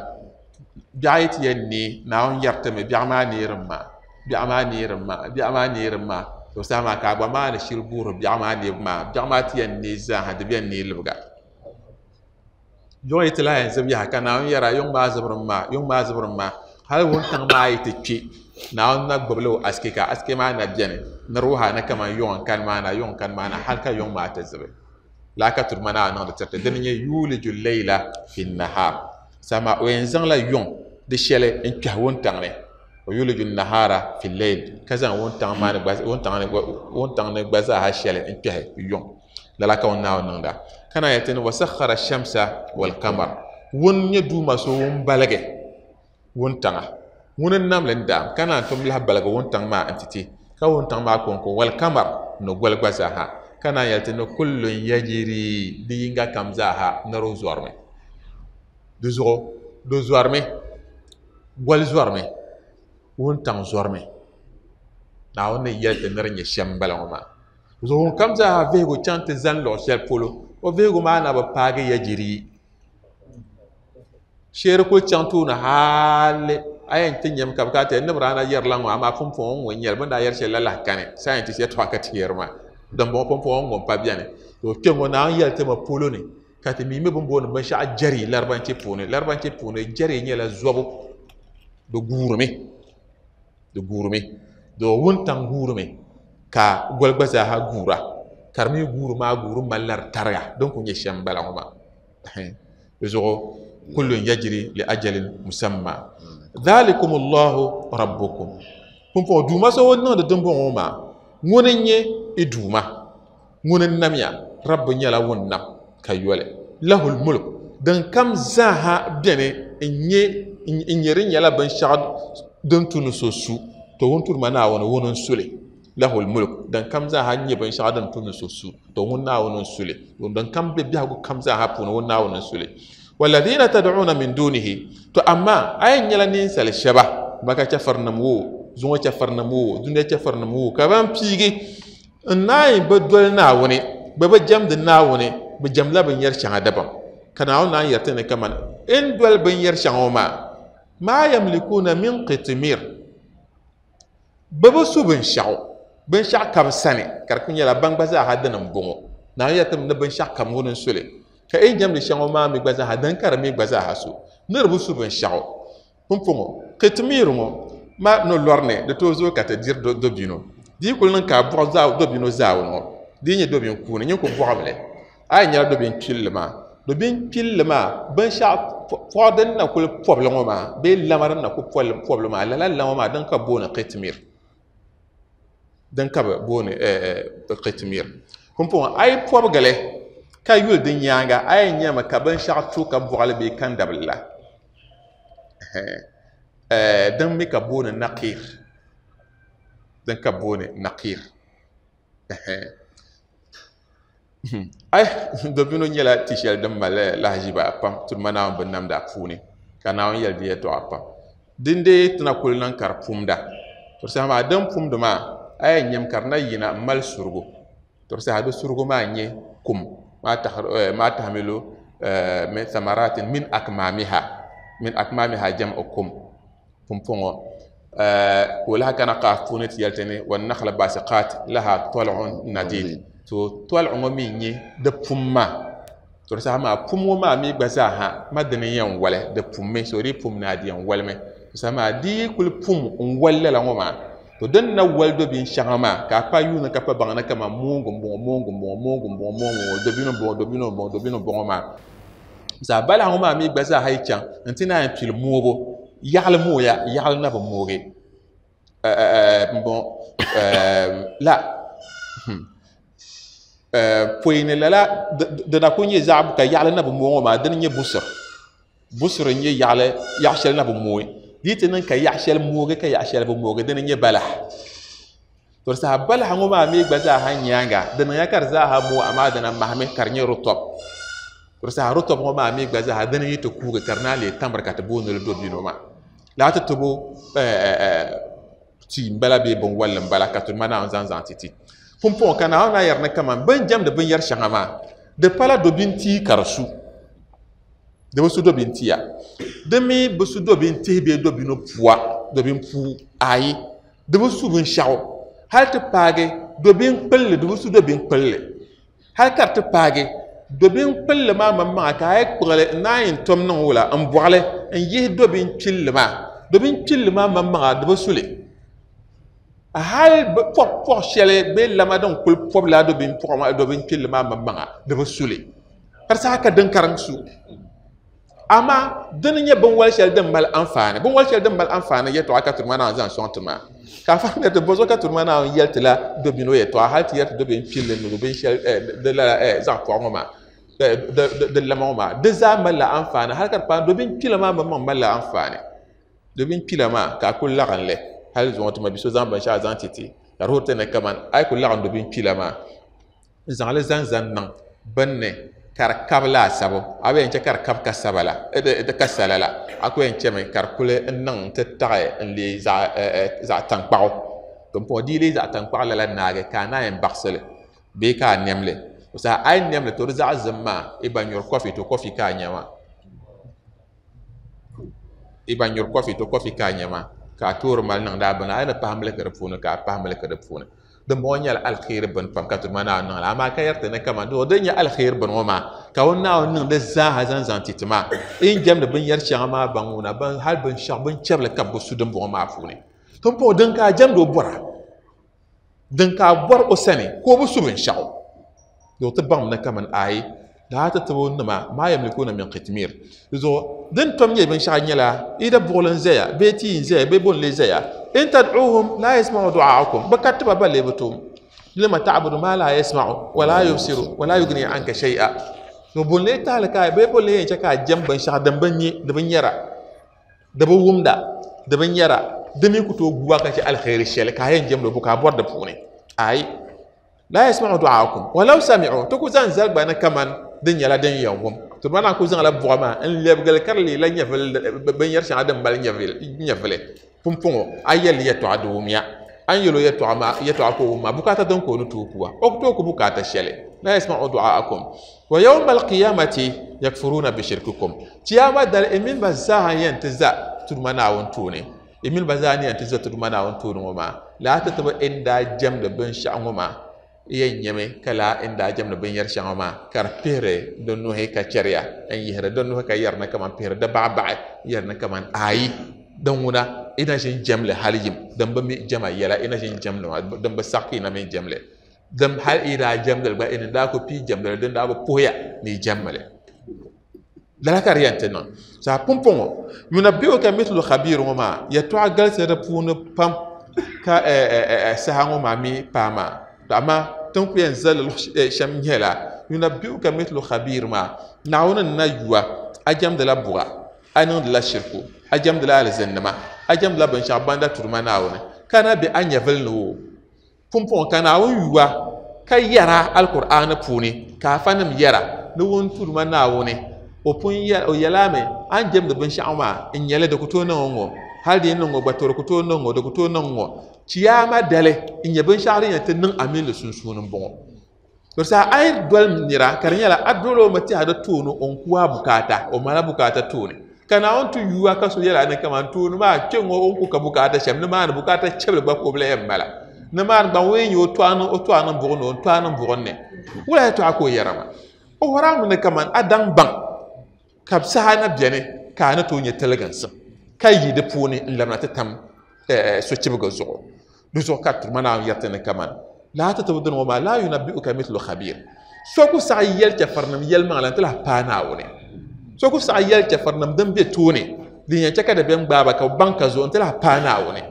biɛɣu yi ti yɛn nee Naawuni yɛri mi biɛɣu maa neerim maa biɛɣu maa neerim maa biɛɣu maa neerim maa to saha maa ka a gba maa ni shiri guuri biɛɣu maa neebu maa biɛɣu maa ti yɛn nee zaaha di bɛn nee libiga yuŋ yi ti lahi yɛn zib yaha ka Naawuni yɛra yuŋ maa zibirim maa yuŋ maa zibirim maa hali wuntaŋ maa yi ti kpe Naawuni na gbubila o asike ka asike maa na bɛni ni di wuhi ni kaman yuŋ n kani maa na yuŋ n kani maa na hali ka yuŋ maa ti zibi laa ka turuma Naawuni niŋdi tiriti dini nyɛ yuliju leyla fi nahar sama o yɛn zaŋla yuŋ di shɛli n kpɛhi wuntaŋ ni o yuliju nahara fi leyl ka zaŋ wuntaŋ maa ni gba wuntaŋ ni gba zaaha shɛli n kpɛhi yuŋ lala ka ŋun Naawuni niŋda ka na yɛti ni wasakhara shamsa wal qamar ŋun nyɛ duuma so ŋun baligi wuntaŋa ŋuni n namli n daam ka naan tom lahi baligi wuntaŋ maa n titi ka wuntaŋ maa konko wal qamar ni goli gba zaaha ka naan yɛli ti ni kullun yajiri di yinga kam zaaha ni di zɔrimi di zuɣu di zɔrimi goli zɔrimi wuntaŋ zɔrimi Naawuni ni yɛli ti ni di nyɛ shɛm n bala ŋɔ maa zuɣu ŋun kam zaaha vihigu chaŋ ti zani luɣu shɛli polo o vihigu maa na bi paagi yajiri sheeri kuli chaŋ tooni hali a yɛn ti nyɛmi ka bi kana ti ni bi daa na yɛrila ŋɔ amaa pumpɔŋɔ ŋɔ n nyɛli bin daa yɛri shɛli la lahi kani scientist yɛltɔɣa ka ti yɛri maa dimbɔŋɔ pumpɔŋɔ ŋɔ n pa biɛni to kpɛ ŋɔ Naawuni yɛli ti mi polo ni ka ti mi mi bin booni binshaɣu jɛri laribanchi puuni laribanchi puuni jɛri nyɛla zɔbu di guurimi di guurimi di wuntaŋ guurimi ka goli gba zaaha guura ka di mi guuri maa guuri malila di tariga din ku nyɛ shɛm n bala ŋɔ maa di zuɣu kullun yajri li ajalin musamma dhalikum Allahu rabbukum pumpɔŋɔ duuma so ŋun niŋdi dimbɔŋɔ maa ŋuni n nyɛ i duuma ŋuni n namya rabbi nyɛla ŋun nam ka yoli lahul mulk din kam zaaha bɛni n nyɛ n nyɛ di nyɛla binshaɣu din tu ni so su to ŋun turi ma Naawuni ŋuni n suli Lahul mulk dan kam zaaha nyɛ binshɛɣu din tu ni so su to ŋun Naawuni n suli din kam be biɛhigu kam zaaha puuni ŋun Naawuni n suli walladina tad'una min dunihi to amma a yɛn nyɛla ninsali shɛba maka chɛfirinim wo zuŋɔ chɛfirinim wo dunia chɛfirinim wo ka ban piigi n naayi bi doli Naawuni bi bi jɛmdi Naawuni bi jɛmdila binyɛri shɛŋa dabam ka Naawuni naan yɛri ti ni kaman n doli binyɛri shɛŋa ŋɔ maa maa yamlikuna min qitmir bi bi su binshaɣu binshaɣu ka bi sani ka di ku nyɛla ban gba zaaha dini n bɔŋɔ Naawuni yɛri ti ni binshaɣu kam ŋuni n suli ka n jɛmdi shɛŋa maa mi gba zaaha din ka di mi gba zaaha su ni di bi su binshaɣu pumpɔŋɔ qitmir ŋɔ ma ni lɔri ni di tooi zooi ka ti diri dobino di yi kuli niŋ ka a bɔɣi dobino zaawuni ŋɔ di yi nyɛ dobin kuuni nyin ku bɔɣimi li a yi nyɛla dobin kpilli maa dobin kpilli maa binshaɣu pɔɣu din na kuli pɔbili ŋɔ maa bee lama din na ku pɔbili maa lala lama maa din ka booni qitmir din ka bi booni qitmir pumpɔŋɔ a yi pɔbigili ka yuli di nyaanga a yɛn nyɛmi ka binshaɣu tu ka bɔɣili bee kandabili la din mi ka booni naqir din ka booni naqir ay dobino nyɛla ti shɛli din mali lahaʒiba pam tuma Naawuni bin namda puuni ka Naawuni yɛli di yɛltɔɣa pam din dee tina kuli niŋ ka di pumda to saha maa din pumdi maa a yɛn nyɛmi ka di na yina n mali surugu to saha di surugu maa nyɛ kum maa tahmilu min thamaratin min akmamiha min akmamiha jam'u kum pumpɔŋɔ ka o lahi kana qaaf puuni ti yɛli ti ni wannakhla basiqat laha tal'un nadid to tɔlɣu ŋɔ mi nyɛ di pum maa to di saha maa pum ŋɔ maa mi gba zaaha ma dini yɛn wali di pummi so di pum ni a di yɛn walimi to saha maa di yi kuli pum n wali lala ŋɔ maa to din na wali do binshɛŋa maa ka a pa yuuni ka pa baŋ ni kaman moongu n bɔŋɔ moongu n bɔŋɔ moongu n bɔŋɔ moongu n bɔŋɔ dobino n bɔŋɔ dobino n bɔŋɔ dobino n bɔŋɔ maa zaa balaha ŋɔ maa mi gba zaaha yi chaŋ n ti naan pili moobu yaɣali mooya yaɣali na bi moogi n bɔŋɔ la pɔi ni lala di na ku nyɛ zaɣ ka yaɣali na bi mooi ŋɔ maa dini nyɛ busir busir n nyɛ yaɣali yaɣa shɛli na bi mooi di ti niŋ ka yaɣa shɛli moogi ka yaɣa shɛli bi moogi dini nyɛ balaha to di saha balaha ŋɔ maa mi gba zaaha nyaanga di niŋya ka di zaaha mooi amaa dina mahami ka di nyɛ rutɔb to di saha rutɔb ŋɔ maa mi gba zaaha dini yi ti kuugi ka di naan leei tamri ka ti booni li dobino maa laa ti tibo tia n bala bee binwalli n bala ka ti ma Naawuni zaŋ zaŋ ti ti pumpɔŋɔ ka Naawuni na yɛri ni kaman bin jɛmdi binyɛri shɛŋa maa di pala dobin tia ka di su di bi su dobin tia di mi bi su dobin tihi bee dobino pua dobin puu ayi di bi su binshaɣu hali ti paagi dobin kpilli di bi su dobin kpilli hali ka di ti paagi dobin kpilli maa maŋmaŋa ka a yi kpuɣili n naan yɛn tom niŋ wula n bɔɣili n yihi dobin kpilli maa dobin kpilli maa maŋmaŋa di bi suli hali pɔg pɔg shɛli bee lama din kuli pɔbi laa dobin pɔɣu maa dobin kpilli maa maŋmaŋa di bi suli ka di saha ka din karim su amaa dini nyɛ binwali shɛli din mali anfaani binwali shɛli din mali anfaani yɛltɔɣa ka turi maa Naawuni zaŋ sɔŋ ti maa ka a fahimya ti bɔzɔ ka turi maa Naawuni yɛli ti la dobino yɛltɔɣa hali ti yɛri ti dobin kpilli ni dobin shɛli di lala zaɣ pɔɣu ŋɔ maa di lama ŋɔ maa di zaa malila anfaani hali ka di paai dobin kpila maa maŋmaŋ malila anfaani dobin kpila maa ka a kuli laɣim li hali zuŋɔ ti ma bi so zaŋ binshaɣu zaŋ ti ti ka di wuhiri ti ni kaman a yi kuli laɣim dobin kpila maa n zaŋli zaŋ zaŋ niŋ binni ka di kabi laasabu a bi yɛn chɛ ka di kabi ka saba la ka sala la a ku yɛn chɛmi ka di kuli niŋ n ti taɣi n leei zaɣ tankpaɣu pumpɔŋɔ di yi leei zaɣ tankpaɣu lala naagi ka a naan yɛn baɣasili bee ka a nɛmli o saha a yi nɛmli to di zaɣ zim maa i ba nyuri kɔfi to kɔfi ka a nyɛ maa i ba nyuri kɔfi to kɔfi ka a nyɛ maa ka a toori mali niŋdi a bini a yi ni pahi miliki di puuni ka a pahi miliki di puuni din bɔŋɔ nyɛla alkhairi bini pam ka turi maa Naawuni niŋli amaa ka yɛri ti ni kaman din nyɛ alkhairi bini ŋɔ maa ka o Naawuni niŋ di zaaha zaŋ zaŋ ti ti maa n jɛmdi binyɛri shɛŋa maa baŋ ŋuna hali binshaɣu binchɛbili ka bi su din bɔŋɔ maa puuni pumpɔŋɔ din ka a jɛmdi o bɔra din ka a bɔri o sani ka o bi su binshaɣu di ti baŋ ni kaman ayi daa ti tibo nima maa yamlikuna min qitmir zuɣu din tom nyɛ binshaɣu nyɛla ida buɣuli n zaya bee tia n zaya bee bon lee zaya in tad'uuhum la yasma'u du'aakum bi ka tiba ba lee bi tom lima ta'budu ma la yasma'u wa la yubsiru wa la yughni anka shay'a to bon lee tahali ka bee bon lee yɛn chɛ ka a jɛm binshaɣu din bi nyɛ di bi nyɛra di bi wumda di bi nyɛra Di mi ku tooi guwa ka chɛ alkhairi shɛli ka a yɛn jɛmdi o bo ka a bɔri di puuni ayi la yasma'u du'aakum walau sami'u ti ku zaŋ zali gba ni kaman din nyɛla din yɛn wum to mana ku zaŋla buɣa maa n lɛbigili ka di leela nyɛvili binyɛri shɛŋa din mali nyɛvili pumpɔŋɔ a yɛlli yɛltɔɣa di wumya an yɛl o yɛltɔɣa maa yɛltɔɣa ka o wum maa bukaata din ka o ni tooi kuwa o ku tooi ku bukaata shɛli la yasma'u du'aakum wa yawma alqiyamati yakfuruna bishirkikum chiyaama dali i mini ba zaa yɛn ti za tuduma Naawuni tooni i mini ba zaa ni yɛn ti za tuduma Naawuni tooni ŋɔ maa laa ti tibi n daa jɛmdi binshaɣu ŋɔ maa yɛn nyɛmi ka laa n daa jɛmdi binyɛri shɛŋa maa ka di pihiri di nuhi ka chɛriya n yihiri di nuhi ka yɛri ni kaman pihiri di baɣabaɣi yɛri ni kaman ayi din ŋuna ina ʒin jɛmli hali yim din bi mi jɛma yɛla ina ʒin jɛmli maa din bi saɣi ka ina mi jɛmli din hali i daa jɛmdili gba ina daa ku pii jɛmdili din daa bi puhiya ni i jɛmmili lala ka di yɛn ti niŋ saa pumpɔŋɔ yunabbi'uka mithlu khabir ŋɔ maa yɛltɔɣa galisi di puuni pam ka saha ŋɔ maa mi paai maa amaa tin ku yɛn zali luɣu shɛm nyɛla yunabbi'uka mithlu khabir maa Naawuni n na yuwa a jɛmdila buɣa a niŋdila shirku a jɛmdila alizinnima a jɛmdila binshaɣu banda tuduma Naawuni ka na be a nyɛvili ni o pumpɔŋɔ ka Naawuni yuwa ka yɛra alkur'aani puuni ka afanim yɛra ni ŋun tuduma Naawuni o pun o yɛlami a ni jɛmdi binshaɣu maa n nyɛli di ku tooi niŋ ŋɔ hali di yi niŋ ŋɔ gba to di ku tooi niŋ ŋɔ di ku tooi niŋ ŋɔ chiyaama dali n nyɛ binshaɣu din yɛn ti niŋ a mini li sunsuuni n bɔŋɔ to saha a yi doli nira ka di nyɛla a doli o mi tɛha di tooni o n ku a bukaata o mala bukaata tooni ka Naawuni ti yuwa ka so yɛla ni kaman tooni maa kpɛ ŋɔ o ni ku ka bukaata shɛm nimaani bukaata chɛbili gba ka o bi lahi yɛn mala nimaani gba ŋun yɛn nyɛ o tɔɣa niŋ o tɔɣa niŋ buɣum ni o tɔɣa niŋ buɣum ni wula yɛltɔɣa ka o yɛra maa o wɔrami ni kaman a daŋ baŋ ka saha na biɛni ka a ni tooi nyɛ tiliginsim ka yi di puuni n labina ti tam sochibigi zuɣu di zuɣu ka turuma Naawuni yɛriti ni kaman laa ti tibi dini ŋɔ maa la yunabbi'uka mithlu khabir so ku saɣi yɛli chɛfurinim yɛlimaŋli n ti lahi paai Naawuni so ku saɣi yɛli chɛfurinim din be tooni din yɛn chɛ ka dabiɛm gbaai ba ka bi baŋ ka zuɣu n ti lahi paai Naawuni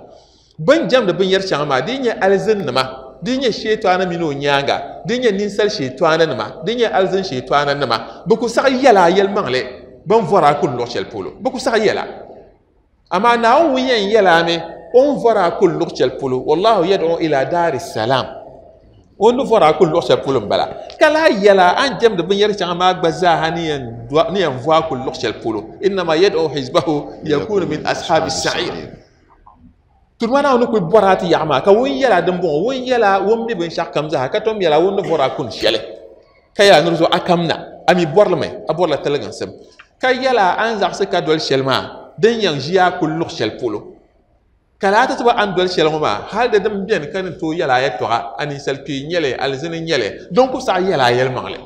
bin jɛmdi binyɛri shɛŋa maa di nyɛ alizinnima di nyɛ sheetɔɣani mini o nyaanga di nyɛ ninsal sheetɔɣani nima di nyɛ alizin sheetɔɣani nima bi ku saɣi yɛla a yɛlimaŋli bin vɔra a kuli luɣu shɛli polo bi ku saɣi yɛla amaa Naawuni ŋun yɛn yɛla mi o ni vɔra a kuli luɣu shɛli polo wallahu yad'u ila daari salam o ni vɔra a kuli luɣu shɛli polo n bala ka lahi yɛla a ni jɛmdi binyɛri shɛŋa maa gba zaaha ni yɛn vɔ a kuli luɣu shɛli polo innama yad'u hizbahu liyakunu min ashabi sa'ir turuma Naawuni kuli bɔra a ti yaɣa maa ka ŋun yɛla din bɔŋɔ ŋun yɛla ŋun mi binshaɣu kam zaaha ka tom yɛla ŋun ni vɔra a kuni shɛli ka yɛla ni di zuɣu a kam na a mi bɔrilimi a bɔrila tiliginsim ka yɛla a ni zaɣisi ka doli shɛli maa din yɛn ʒiya a kuli luɣu shɛli polo ka laa ti tiba a ni doli shɛli ŋɔ maa hali di din biɛni ka ni tooi yɛla a yɛltɔɣa a ninsal kpee nyɛli alizini nyɛli din ku saɣi yɛla a yɛlimaŋli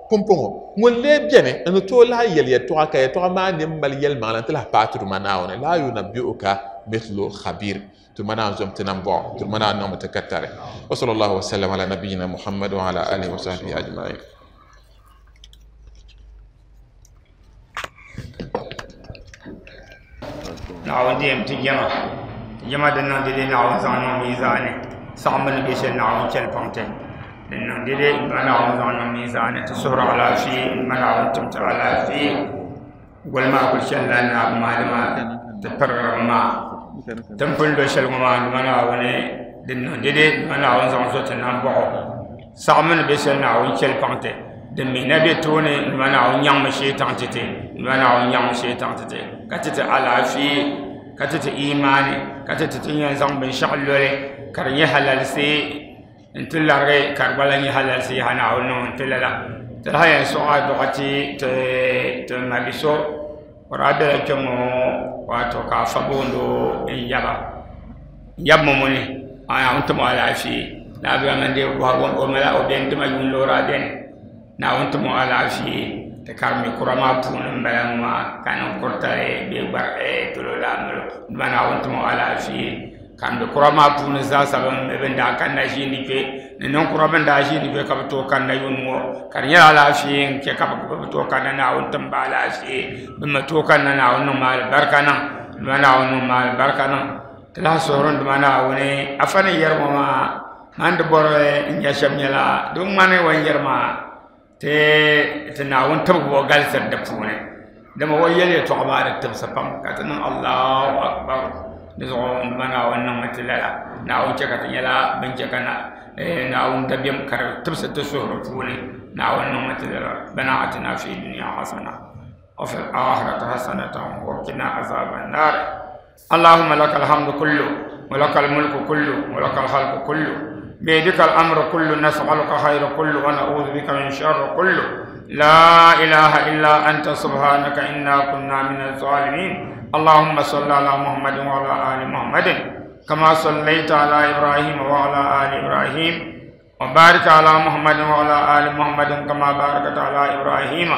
pumpɔŋɔ ŋun lee biɛni n ni tooi lahi yɛli yɛltɔɣa ka yɛltɔɣa maa ni mali yɛlimaŋli n ti lahi paai tuduma Naawuni la yunabbi'uka mithlu khabir tuduma Naawuni zom ti nam bɔɣu tuduma Naawuni niŋmi ti ka tari wa sallallahu wa sallam ala nabiyina Muhammad wa ala alihi wa sahbihi ajma'in. Naawuni diyɛm ti jɛma jɛma din niŋ dede Naawuni zaŋ niŋ miizaani saɣimbu ni bɛ shɛli Naawuni chɛli paŋ ti din niŋ dede ma Naawuni zaŋ niŋ miizaani ti suhuri alaafee ma Naawuni tim ti alaafee goli maa kuli chɛnila naabu maa dama ti pirigirimi maa tin pun do shɛli ŋɔ maa ma Naawuni din niŋ dede ma Naawuni zaŋ zo ti nambɔɣu saɣimbu ni bɛ shɛli Naawuni chɛli paŋ ti din mi na bɛ tooni ma Naawuni nyaŋmi shee taŋ ti ti ma Naawuni nyaŋmi shee taŋ ti ti ka ti ti alaafee ka ti ti imaani ka ti ti ti yɛn zaŋ binshaɣu loli ka di nyɛ halalisi n ti larigi ka di gba lahi nyɛ halalisi yaha Naawuni niŋ n ti lala ti lahi yɛn sɔɣi aduɣa ti ti ti mabi so o daa bela kpɛ ŋɔ wato ka afa booni o n yaba n yabi mɔmɔni Naawuni timi o alaafee naabia man deei bɔhigu o mala o bɛni tima yuun loori a bɛni Naawuni timi o alaafee ti karimi kura maa puuni n bala ŋɔ maa ka niŋ kuritali bee gbari dolo laa molo dama Naawuni timi o alaafee ka n be kura maa puuni zaasa bin daa kanna ʒiindi kpe ni ninkura bin daa ʒiindi kpe ka bi tooi kanna yuun ŋɔ ka di nyɛla alaafee n chɛ ka bi tooi kanna Naawuni tim ba alaafee bin mi tooi kanna Naawuni niŋ ma alibarika niŋ dama Naawuni niŋ ma alibarika niŋ ti lahi suhuri dama Naawuni afa ni yɛri ŋɔ maa man di bɔri n nya shɛm nyɛla di ŋmani o ni yɛri maa ti ti Naawuni tibigi o galisiri di puuni dama o yɛli yɛltɔɣa maa di tibisi pam ka ti niŋ Allahu akbar Di zuɣu n ma Naawuni niŋmi ti lala Naawuni chɛ ka ti nyɛla bin chɛ ka Naawuni dabiɛm ka di tibisi ti suhuri puuni Naawuni niŋmi ti lala rabbana atina fi dunya hasana wa fil akhirati hasanatan wa qina azaban nar. اللهم لك الحمد كله ولك الملك كله ولك الخلق كله بيدك الأمر كله نسألك خير كله ونعوذ بك من شر كله لا إله إلا أنت سبحانك إنا كنا من الظالمين. اللهم صل على محمد وعلى آل محمد كما صليت على إبراهيم وعلى آل إبراهيم وبارك على محمد وعلى آل محمد كما باركت على إبراهيم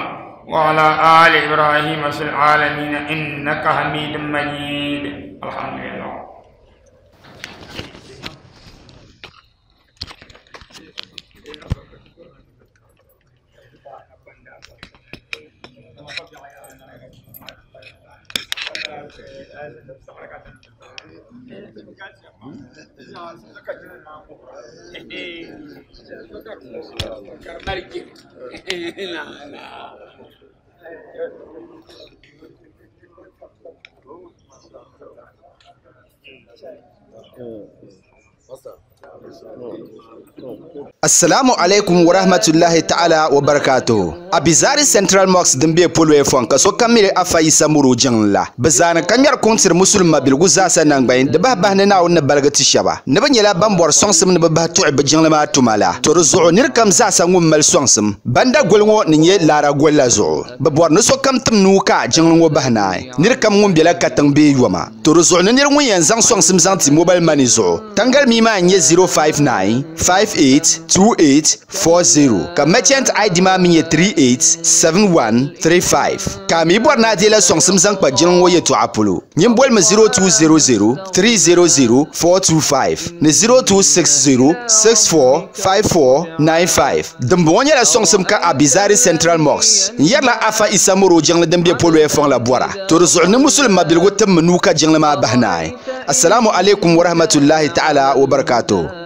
وعلى آل إبراهيم في العالمين إنك حميد مجيد. الحمد لله. Assalamu alaikum wa rahmatullahi ta'ala wa barakatuhu. Abizari Central Mosque din be polway fon ka so kamiri afa Isa muru jiŋ la. Bɛ zaani ka ŋmɛri kuŋtiri musulima biligu zaasa nangbayin di bahi bahi ni Naawuni ni baligi ti shɛba. Ni bɛ nyɛla ban bɔri sɔŋsim ni bɛ bahi tuɣi bɛ jiŋli maa tuma la. To di zuɣu niri kam zaasa ŋun mali sɔŋsim. Banda goli ŋɔ ni nyɛ laara goli la zuɣu. Bɛ bɔri ni sokam tim nuu ka jiŋli ŋɔ bahi naai. Niri kam ŋun bela katiŋ bee yoma. To di zuɣu ni niri ŋun yɛn zaŋ sɔŋsim zaŋ ti mobile money zuɣu. Tangali mii maa n-nyɛ zero five nine five eight two eight four zero ka merchant I D maa mi nyɛ three eight seven one three five ka mi bɔri ni a deela sɔŋsim zaŋ kpa jiŋli ŋɔ yɛltɔɣa polo nyin bolimi zero two zero zero three zero zero four two five ni zero two six zero six four five four nine five. Dimbɔŋɔ nyɛla sɔŋsim ka Abizari Central Mosque n yɛrila Afa Isa Moro jiŋli din be polo fɔŋ la bɔra. To di zuɣu ni musulima biligu tim mi nuu ka jiŋli maa bahi naai. Assalamu alaikum wa rahmatullahi ta'ala wa barakatuh.